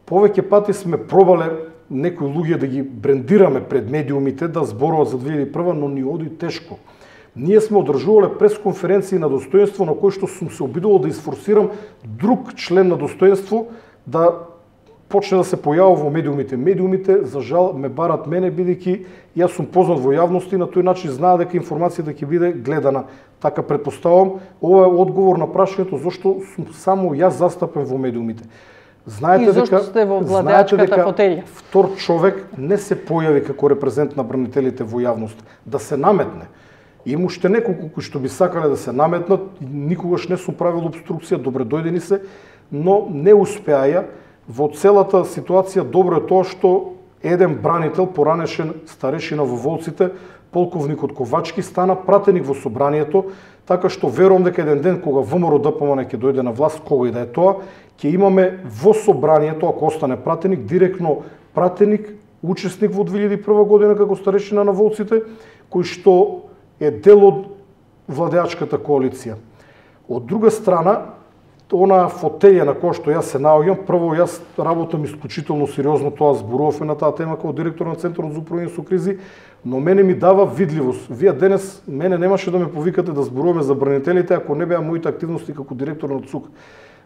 [SPEAKER 2] Повеќе пати сме пробале некои луѓе да ги брендираме пред медиумите, да зборуват за две илјади и прва, но ни оди тешко. Ние сме одржувале пресконференции на достоинство на кои што сум се обидувал да изфорсирам друг член на достоинство да почне да се појавува во медиумите. Медиумите, за жал, ме барат мене, бидејќи јас сум познат во јавност и на тој начин знаат дека информацијата ќе биде гледана. Така предпоставувам, ова е одговор на прашањето зошто сум само јас застапен во медиумите. Знаете
[SPEAKER 1] и зошто
[SPEAKER 2] дека,
[SPEAKER 1] сте во владеачката фотелја?
[SPEAKER 2] Втор човек не се појави како репрезент на бранителите во јавност, да се наметне. Има уште неколку кои што би сакале да се наметнат, никогаш не сум правил обструкција, добре дојдени се, но не успеаја. Во целата ситуација добро е тоа што еден бранител, поранешен старешина во Волците, полковникот Ковачки, стана пратеник во собранието, така што верувам дека еден ден кога ВМРО ДПМН ќе дојде на власт, кога и да е тоа, ќе имаме во собранието, ако остане пратеник, директно пратеник, учесник во две илјади и прва година како старешина на Волците, кој што е дел од владеачката коалиција. Од друга страна, она фотелја на која што јас се наоѓам, прво јас работам исклучително сериозно, тоа зборувавме на таа тема како директор на Центарот за управување со кризи, но мене ми дава видливост. Вие денес мене немаше да ме повикате да зборуваме за бранителите ако не беа моите активности како директор на ЦУК.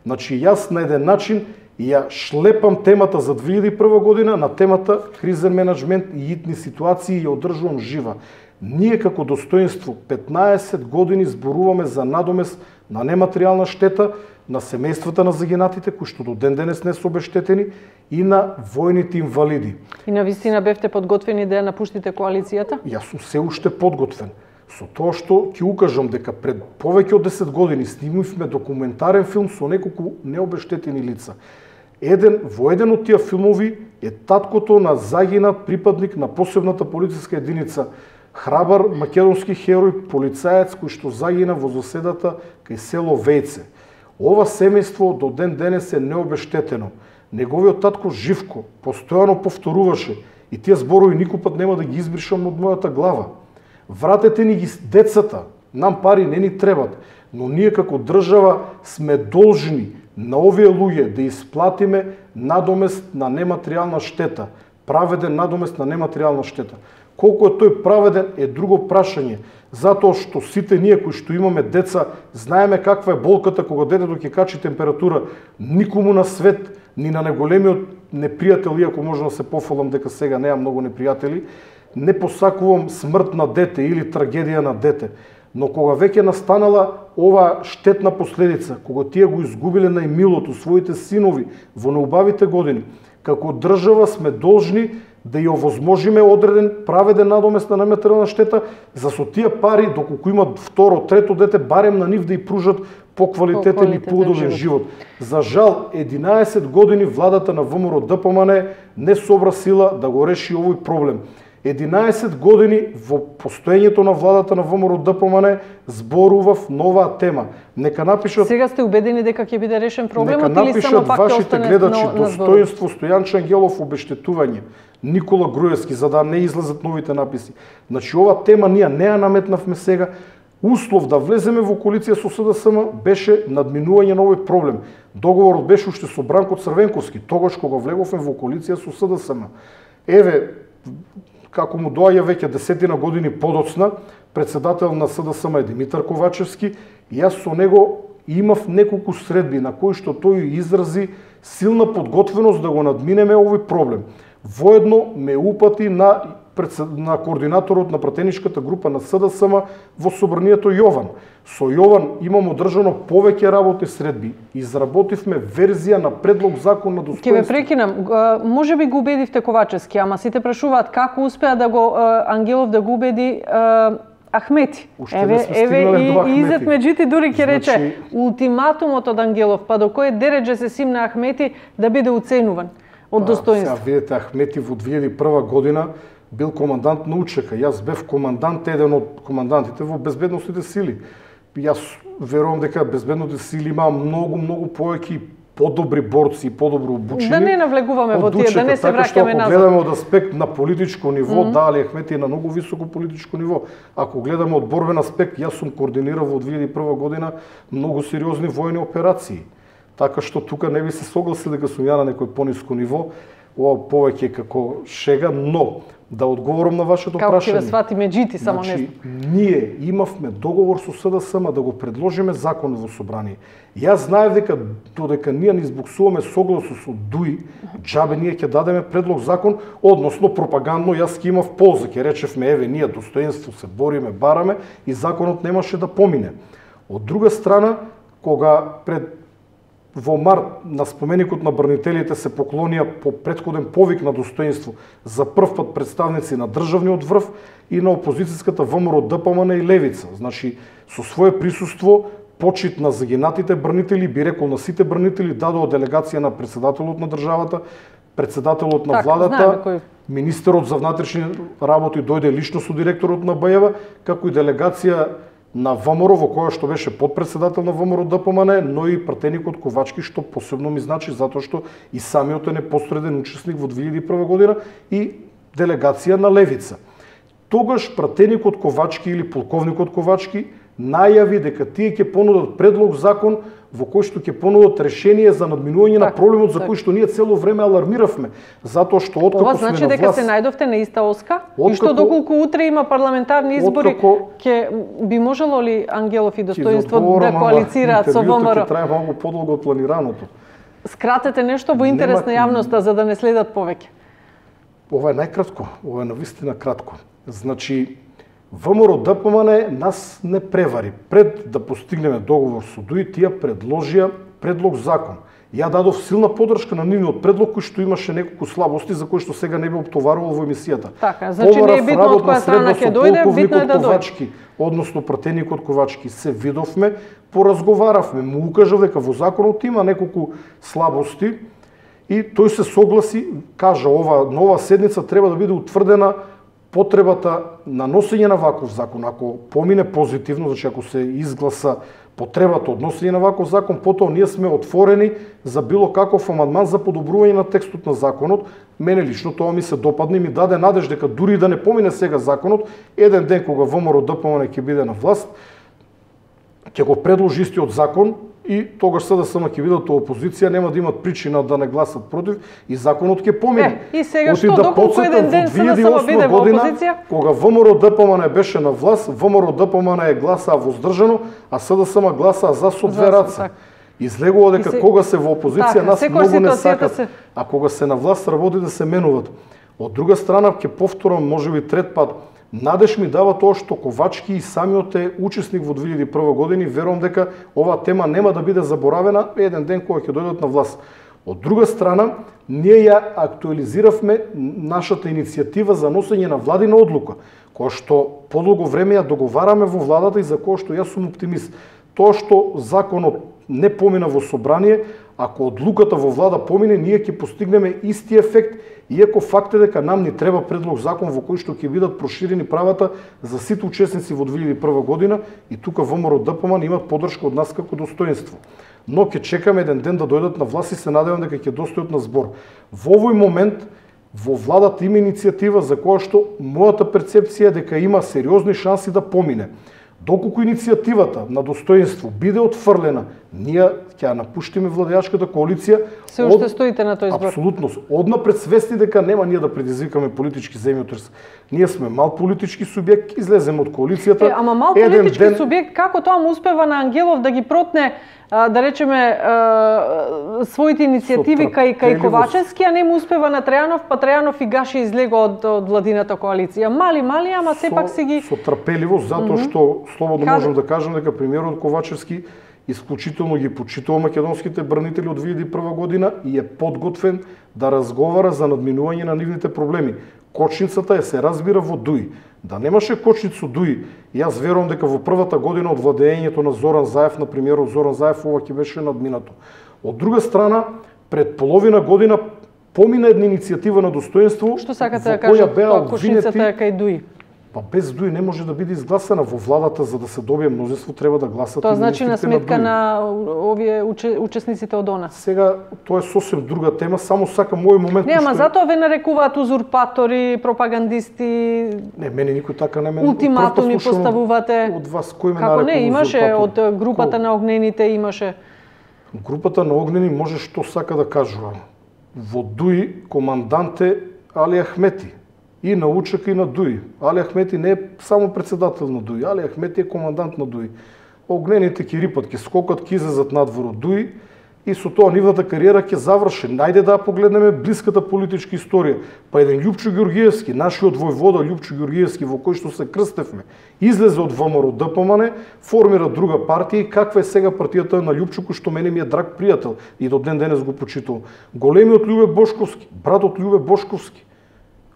[SPEAKER 2] Значи јас на еден начин ја шлепам темата за две илјади и прва година на темата кризен менеджмент и итни ситуации и ја одржувам жива. Ние како достоинство петнаесет години зборуваме за надомест на нематеријална штета на семејствата на загинатите, кои што до ден денес не се обештетени, и на војните инвалиди.
[SPEAKER 1] И на вистина бевте подготвени да ја напуштите коалицијата?
[SPEAKER 2] Јас сум се уште подготвен. Со тоа што ќе укажам дека пред повеќе од десет години снимивме документарен филм со неколку необештетени лица. Еден, во еден од тие филмови е таткото на загинат припадник на посебната полициска единица, храбар македонски херој, полицаец кој што загина во заседата кај село Вејце. Ова семејство до ден денес е необештетено. Неговиот татко Живко постојано повторуваше и тие зборови никој пат нема да ги избришам од мојата глава. Вратете ни ги децата, нам пари не ни требат, но ние како држава сме должни на овие луѓе да исплатиме надомест на нематеријална штета, праведен надомест на нематеријална штета. Колку е тој праведен е друго прашање, затоа што сите ние кои што имаме деца знаеме каква е болката кога детето ќе качи температура. Никому на свет, ни на неголемиот непријател, иако можам да се пофалам дека сега неам многу непријатели, не посакувам смрт на дете или трагедија на дете. Но кога веќе настанала ова штетна последица, кога тие го изгубиле најмилото, своите синови во неубавите години, како држава сме должни да ја овозможиме одреден праведен надомест на нематеријална штета, за со тие пари, доколку имат второ, трето дете, барем на нив да ја пружат поквалитетен и поудобен живот. За жал, единаесет години владата на ВМРО ДПМН не собра сила да го реши овој проблем. единаесет години во постоењето на владата на ВМРО-ДПМН зборував нова тема. Нека напишат.
[SPEAKER 1] Сега сте убедени дека ќе биде решен проблемот или само пак ќе остане
[SPEAKER 2] гледачи на, на достоинство Стојан Ангелов обештетување, Никола Груевски, за да не излезат новите написи. Значи ова тема ние не ја наметнавме сега. Услов да влеземе во коалиција со СДСМ беше надминување на овој проблем. Договорот беше уште со Бранко Црвенковски, тогаш кога влеговме во коалиција со СДСМ. Еве, како му доаѓа веќе десетина години подоцна, председател на СДСМ е Димитар Ковачевски, и јас со него имав неколку средби на кои што тој изрази силна подготвеност да го надминеме овој проблем. Воедно ме упати на на координаторот на пратеничката група на СДСМ во собранието Јован. Со Јован имам одржано повеќе работни средби. Изработивме верзија на предлог закон на достоинство.
[SPEAKER 1] Ќе ве прекинам. Може би го убедивте Ковачевски, ама сите прашуваат како успеа да го Ангелов да го убеди Ахмети.
[SPEAKER 2] Уште
[SPEAKER 1] еве, еве и, и Изет Меджити дури ќе рече
[SPEAKER 2] значи...
[SPEAKER 1] ултиматумот од Ангелов, па до кој дередже се симна Ахмети да биде уценуван од достоинство.
[SPEAKER 2] Сега видите, Ахмети во две илјади и прва година бил командант на УЧК. Јас бев командант, еден од командантите во безбедносните сили. Јас верувам дека безбедносните сили има многу, многу повеќе подобри борци и подобро обучени.
[SPEAKER 1] Да не навлегуваме во тие, да не се враќаме назад.
[SPEAKER 2] Ако гледаме од аспект на политичко ниво, mm -hmm. да, али Ахмети е на многу високо политичко ниво. Ако гледаме од борбен аспект, јас сум координирал во две илјади и прва година многу сериозни војни операции. Така што тука не би се согласил дека сум ја на некој пониско ниво, ова повеќе како шега, но да одговорам на вашето
[SPEAKER 1] како
[SPEAKER 2] прашање.
[SPEAKER 1] Како ќе ве свати Меджити, само
[SPEAKER 2] значи,
[SPEAKER 1] не знам.
[SPEAKER 2] Ние имавме договор со СДСМ да го предложиме закон во собрание. Јас знаев дека додека ние не избуксуваме согласно со ДУИ, џабе ние ќе дадеме предлог закон, односно пропагандно јас ќе имав полза, ќе речевме еве ние достоинство се бориме, бараме и законот немаше да помине. Од друга страна, кога пред во март на споменикот на бранителите се поклонија по претходен повик на достоинство за прв пат представници на државниот врв и на опозицијската ВМРО-ДПМН и Левица. Значи, со свое присуство, почит на загинатите бранители, би рекол на сите бранители, дадоа делегација на председателот на државата, председателот на
[SPEAKER 1] так,
[SPEAKER 2] владата,
[SPEAKER 1] кој...
[SPEAKER 2] министерот за внатрешни работи дојде лично со директорот на БЈ-ва, како и делегација на ВМРО, во која што беше подпредседател на ВМРО-ДПМН, но и пратеникот Ковачки, што посебно ми значи, затоа што и самиот е непосреден учесник во две илјади и прва година, и делегација на Левица. Тогаш пратеникот Ковачки или полковникот Ковачки најави дека тие ќе понудат предлог закон во кој што ќе понудат решение за надминување на проблемот за
[SPEAKER 1] так.
[SPEAKER 2] кој што ние цело време алармиравме, затоа што откако
[SPEAKER 1] Ова
[SPEAKER 2] сме
[SPEAKER 1] значи
[SPEAKER 2] на власт...
[SPEAKER 1] дека се најдовте на иста оска? Откако... И што доколку утре има парламентарни избори,
[SPEAKER 2] откако...
[SPEAKER 1] ќе би можело ли Ангелов и достоинство да коалицираат со ВМРО?
[SPEAKER 2] Ќе трае малку подолго од планираното.
[SPEAKER 1] Скратете нешто во интерес Нема... на јавноста за да не следат повеќе.
[SPEAKER 2] Ова е најкратко, ова е навистина кратко. Значи, ВМРО-ДПМН нас не превари. Пред да постигнеме договор со ДУИ, тие предложија предлог закон. Ја дадов силна подршка на нивниот предлог кој што имаше неколку слабости за кои што сега не би оптоварувал во емисијата.
[SPEAKER 1] Така, значи не е битно од која страна ќе дојде, битно е да
[SPEAKER 2] дојде. Односно пратеникот Ковачки се видовме, поразговаравме, му укажав дека во законот има неколку слабости и тој се согласи, кажа ова нова седница треба да биде утврдена потребата на носење на ваков закон. Ако помине позитивно, значи ако се изгласа потребата од носење на ваков закон, потоа ние сме отворени за било каков амандман за подобрување на текстот на законот. Мене лично тоа ми се допадна и ми даде надеж дека дури да не помине сега законот, еден ден кога ВМРО-ДПМН ќе биде на власт, ќе го предложи истиот закон и тогаш СДСМ ќе бидат во опозиција, нема да имат причина да не гласат против и законот ќе помине.
[SPEAKER 1] Е, и сега што да доколку еден ден СДСМ биде во опозиција?
[SPEAKER 2] Кога ВМРО-ДПМН беше на власт, ВМРО-ДПМН е гласаа воздржано, а СДСМ гласаа за со две раце. Излегува дека се... кога се во опозиција така, нас многу не сакат, се... а кога се на власт работи да се менуват. Од друга страна, ќе повторам, можеби трет пат, надеж ми дава тоа што Ковачки и самиот е учесник во две илјади и прва година и верувам дека оваа тема нема да биде заборавена еден ден кога ќе дојдат на власт. Од друга страна, ние ја актуализиравме нашата иницијатива за носење на владина одлука, која што подолго време ја договараме во владата и за која што јас сум оптимист. Тоа што законот не помина во собрание, ако одлуката во влада помине, ние ќе постигнеме исти ефект Иако факт е дека нам ни треба предлог закон во кој што ќе бидат проширени правата за сите учесници во две илјади и прва година и тука ВМРО ДПМН имат поддршка од нас како достоинство. Но ќе чекаме еден ден да дојдат на власт и се надевам дека ќе достојат на збор. Во овој момент во владата има иницијатива за која што мојата перцепција е дека има сериозни шанси да помине. Доколку иницијативата на достоинство биде отфрлена, ние ќе напуштиме владеачката коалиција.
[SPEAKER 1] Се уште стоите на тој збор?
[SPEAKER 2] Апсолутно. Однапред свесни дека нема ние да предизвикаме политички земјотрес. Ние сме мал политички субјект, излеземе од коалицијата.
[SPEAKER 1] Е, ама мал политички ден... субјект, како тоа му успева на Ангелов да ги протне, да речеме, своите иницијативи кај, кај Ковачевски, а не му успева на Трајанов, па Трајанов и Гаши излего од, од владината коалиција. Мали, мали, ама сепак си ги...
[SPEAKER 2] Со трпеливост, затоа mm -hmm. што слободно Каде? можам да кажам дека премиерот Ковачевски исклучително ги почитува македонските бранители од две илјади и прва година и е подготвен да разговара за надминување на нивните проблеми. Кочницата е се разбира во Дуи. Да немаше кочницу Дуи, јас верувам дека во првата година од владеењето на Зоран Заев, на премиерот Зоран Заев, ова ќе беше надминато. Од друга страна, пред половина година помина една иницијатива на достоинство.
[SPEAKER 1] Што сакате да кажете, тоа кочницата е кај Дуи?
[SPEAKER 2] Па без Дуи не може да биде изгласана во владата, за да се добие мнозинство треба да гласат.
[SPEAKER 1] Тоа значи на сметка на, на овие уче, учесниците од ОНА.
[SPEAKER 2] Сега тоа е сосем друга тема, само сакам овој момент.
[SPEAKER 1] Не, ама затоа ве нарекуваат узурпатори, пропагандисти.
[SPEAKER 2] Не, мене никој така не мене.
[SPEAKER 1] Ултиматуми поставувате.
[SPEAKER 2] Од вас кој ме
[SPEAKER 1] нарекува? Како не, имаше
[SPEAKER 2] узурпатор?
[SPEAKER 1] Од групата Ко? на огнените имаше.
[SPEAKER 2] Групата на огнени може што сака да кажува. Во Дуи командант е Али Ахмети. И на УЧК и на Дуи. Али Ахмети не е само председател на Дуи, Али Ахмети е командант на Дуи. Огнените ќе рипат, ќе скокат, ќе излезат надвор од Дуи и со тоа нивната кариера ќе заврши. Најде да погледнеме блиската политичка историја. Па еден Љупчо Ѓоргиевски, нашиот војвода Љупчо Ѓоргиевски, во кој што се крстевме, излезе од ВМРО ДПМН, формира друга партија и каква е сега партијата на Љупчо, кој што мене ми е драг пријател и до ден денес го почитувам. Големиот Љубе Бошковски, братот Љубе Бошковски,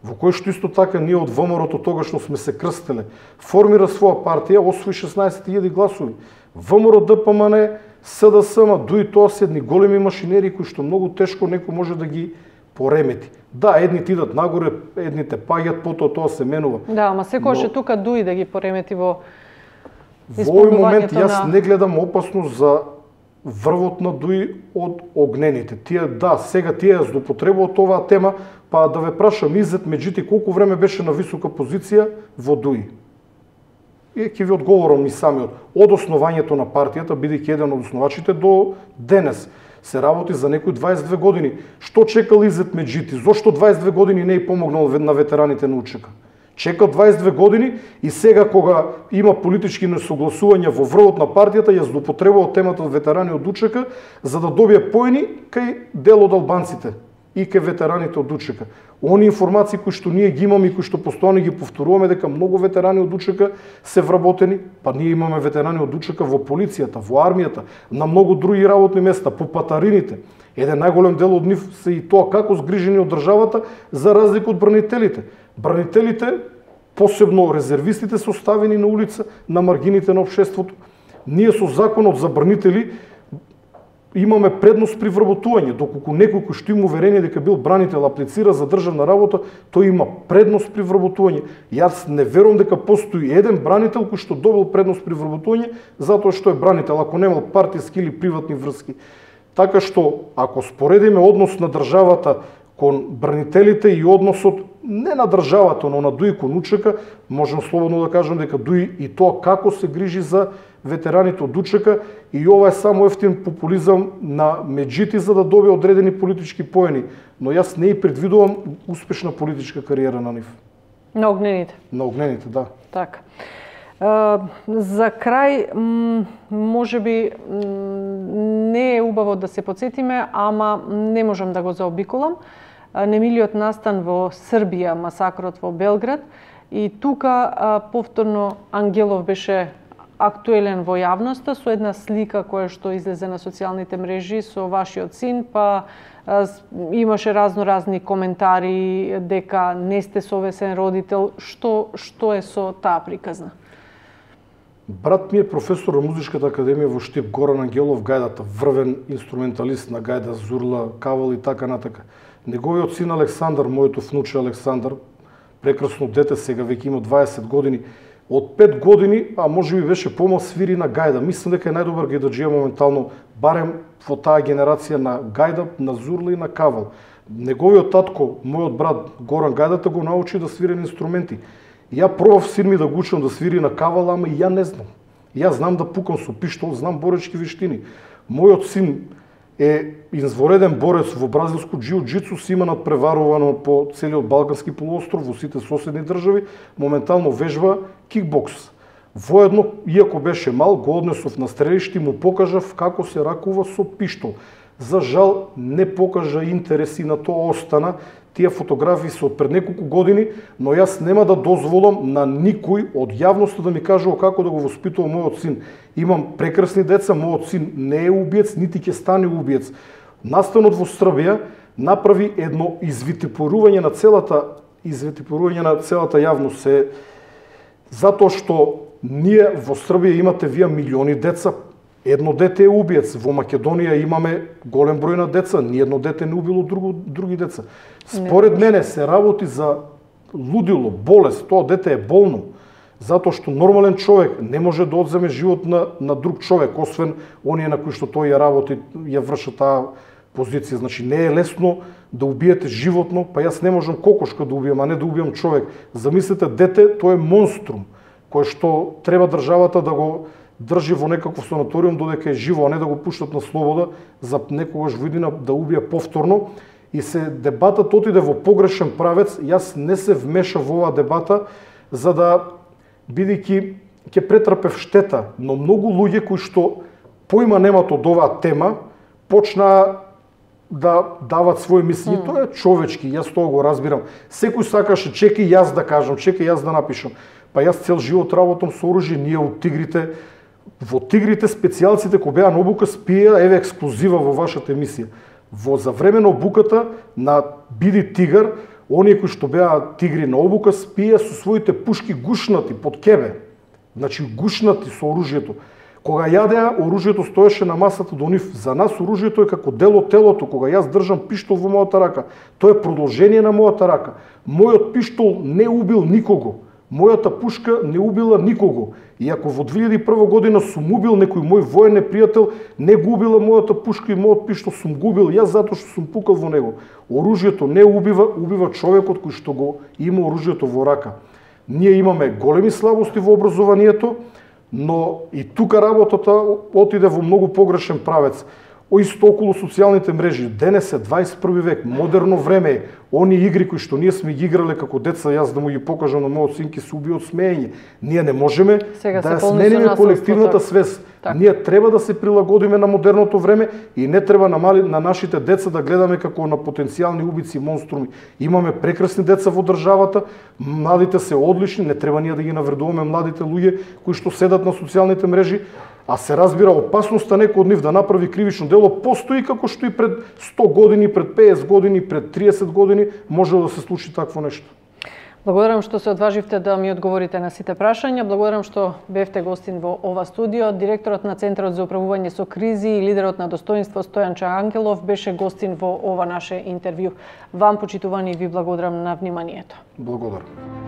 [SPEAKER 2] во кој што исто така ние од ВМРО-то тогаш сме се крстеле, формира своја партија, освои шеснаесет илјади гласови. ВМРО ДПМН, СДСМ, Дуи, тоа се едни големи машинери кои што многу тешко некој може да ги поремети. Да, едните идат нагоре, едните паѓат, потоа тоа се менува.
[SPEAKER 1] Да, ама секогаш е но... тука Дуи да ги поремети во
[SPEAKER 2] исполнувањето. Во овој момент јас на... не гледам опасност за врвот на Дуи од огнените. Тие, да, сега тие ја злоупотребуваат оваа тема, па да ве прашам, Изет Меджити колку време беше на висока позиција во Дуи? И ќе ви одговорам и самиот. Од основањето на партијата, бидејќи еден од основачите до денес, се работи за некои дваесет и две години. Што чекал Изет Меджити? Зошто дваесет и две години не е помогнал на ветераните на УЧК? Чекал дваесет и две години и сега кога има политички несогласувања во врвот на партијата, ја злоупотребува темата од ветерани од УЧК за да добие поени кај дел од албанците и кај ветераните од УЧК. Они информации кои што ние ги имаме и кои што постојано ги повторуваме дека многу ветерани од УЧК се вработени, па ние имаме ветерани од УЧК во полицијата, во армијата, на многу други работни места, по патарините. Еден најголем дел од нив се и тоа како згрижени од државата за разлика од бранителите. Бранителите, посебно резервистите, се оставени на улица, на маргините на општеството. Ние со законот за бранители имаме предност при вработување, доколку некој кој што има уверение дека бил бранител аплицира за државна работа, тој има предност при вработување. Јас не верувам дека постои еден бранител кој што добил предност при вработување затоа што е бранител, ако немал партиски или приватни врски. Така што, ако споредиме однос на државата кон бранителите и односот не на државата, но на Дуи кон УЧК, можам слободно да кажам дека Дуи и тоа како се грижи за ветераните од УЧК и ова е само ефтин популизам на Меджити за да добие одредени политички поени, но јас не и предвидувам успешна политичка кариера на нив.
[SPEAKER 1] На огнените.
[SPEAKER 2] На огнените, да.
[SPEAKER 1] Така. За крај, може би не е убаво да се подсетиме, ама не можам да го заобиколам. Немилиот настан во Србија, масакрот во Белград, и тука повторно Ангелов беше актуелен во јавноста со една слика која што излезе на социјалните мрежи со вашиот син, па имаше разно-разни коментари дека не сте совесен родител. Што што е со таа приказна?
[SPEAKER 2] Брат ми е професор на Музичката академија во Штип, Горан Ангелов, гајдата, врвен инструменталист на гајда, зурла, кавал и така натака. Неговиот син Александар, моето внуче Александар, прекрасно дете, сега веќе има дваесет години, од пет години, а може би беше помал, свири на гајда. Мислам дека е најдобар гајдаджија моментално, барем во таа генерација на гајда, на зурла и на кавал. Неговиот татко, мојот брат Горан Гајдата го научи да свири на инструменти. Ја пробав син ми да го учам да свири на кавал, ама и ја не знам. Ја знам да пукам со пиштол, знам боречки вештини. Мојот син е извореден борец во бразилско џиу-џицу, си има надпреварувано по целиот Балкански полуостров, во сите соседни држави, моментално вежба кикбокс. Воедно, иако беше мал, го однесов на стрелиште и му покажав како се ракува со пиштол. За жал, не покажа интереси на тоа, остана. Тие фотографии се од пред неколку години, но јас нема да дозволам на никој од јавноста да ми кажува како да го воспитува мојот син. Имам прекрасни деца, мојот син не е убиец, нити ќе стане убиец. Настанот во Србија направи едно извитипорување на целата извитипорување на целата јавност, се затоа што ние во Србија имате вие милиони деца. Едно дете е убиец. Во Македонија имаме голем број на деца, ни едно дете не убило друго, други деца. Според мене се работи за лудило, болест, тоа дете е болно, затоа што нормален човек не може да одземе живот на, на друг човек, освен оние на кои што тој ја работи, ја врши таа позиција. Значи не е лесно да убиете животно, па јас не можам кокошка да убијам, а не да убијам човек. Замислете, дете, тоа е монструм, кој што треба државата да го држи во некаков санаториум додека е живо, а не да го пуштат на слобода за некогаш во иднина да убие повторно. И се дебатот отиде во погрешен правец. Јас не се вмешав во оваа дебата за да, бидејќи ќе претрпев штета, но многу луѓе кои што поима немат од оваа тема почнаа да дават своји мисли. Mm. Тоа е човечки, јас тоа го разбирам. Секој сакаше чеки јас да кажам, чеки јас да напишам. Па јас цел живот работам со оружје, ние од Тигрите. Во Тигрите специјалците кои беа на обука спија, еве ексклузива во вашата емисија. Во за време на обуката на Биди Тигар, оние кои што беа тигри на обука спија со своите пушки гушнати под кебе. Значи гушнати со оружјето. Кога јадеа, оружјето стоеше на масата до нив. За нас оружјето е како дел од телото. Кога јас држам пиштол во мојата рака, тоа е продолжение на мојата рака. Мојот пиштол не убил никого. Мојата пушка не убила никого. И ако во две илјади и прва година сум убил некој мој воен непријател, не го убила мојата пушка и мојот пиштол сум губил јас затоа што сум пукал во него. Оружјето не убива, убива човекот кој што го има оружјето во рака. Ние имаме големи слабости во образованието, но и тука работата отиде во многу погрешен правец. Исто околу социјалните мрежи. Денес е дваесет и први век, модерно време е. Они игри кои што ние сме ги играле како деца, јас да му ги покажам на мојот син, ќе се уби од смеење. Ние не можеме
[SPEAKER 1] Сега
[SPEAKER 2] да смениме колективната свест. Так. Ние треба да се прилагодиме на модерното време и не треба на, мали, на нашите деца да гледаме како на потенцијални убици и монструми. Имаме прекрасни деца во државата, младите се одлични, не треба ние да ги навредуваме младите луѓе кои што седат на социјалните мрежи, а се разбира опасноста некој од нив да направи кривично дело постои како што и пред сто години, пред песет години, пред триесет години може да се случи такво нешто.
[SPEAKER 1] Благодарам што се одваживте да ми одговорите на сите прашања. Благодарам што бевте гостин во ова студио. Директорот на Центарот за управување со кризи и лидерот на достоинство Стојанче Ангелов беше гостин во ова наше интервју. Вам, почитувани, ви благодарам на вниманието.
[SPEAKER 2] Благодарам.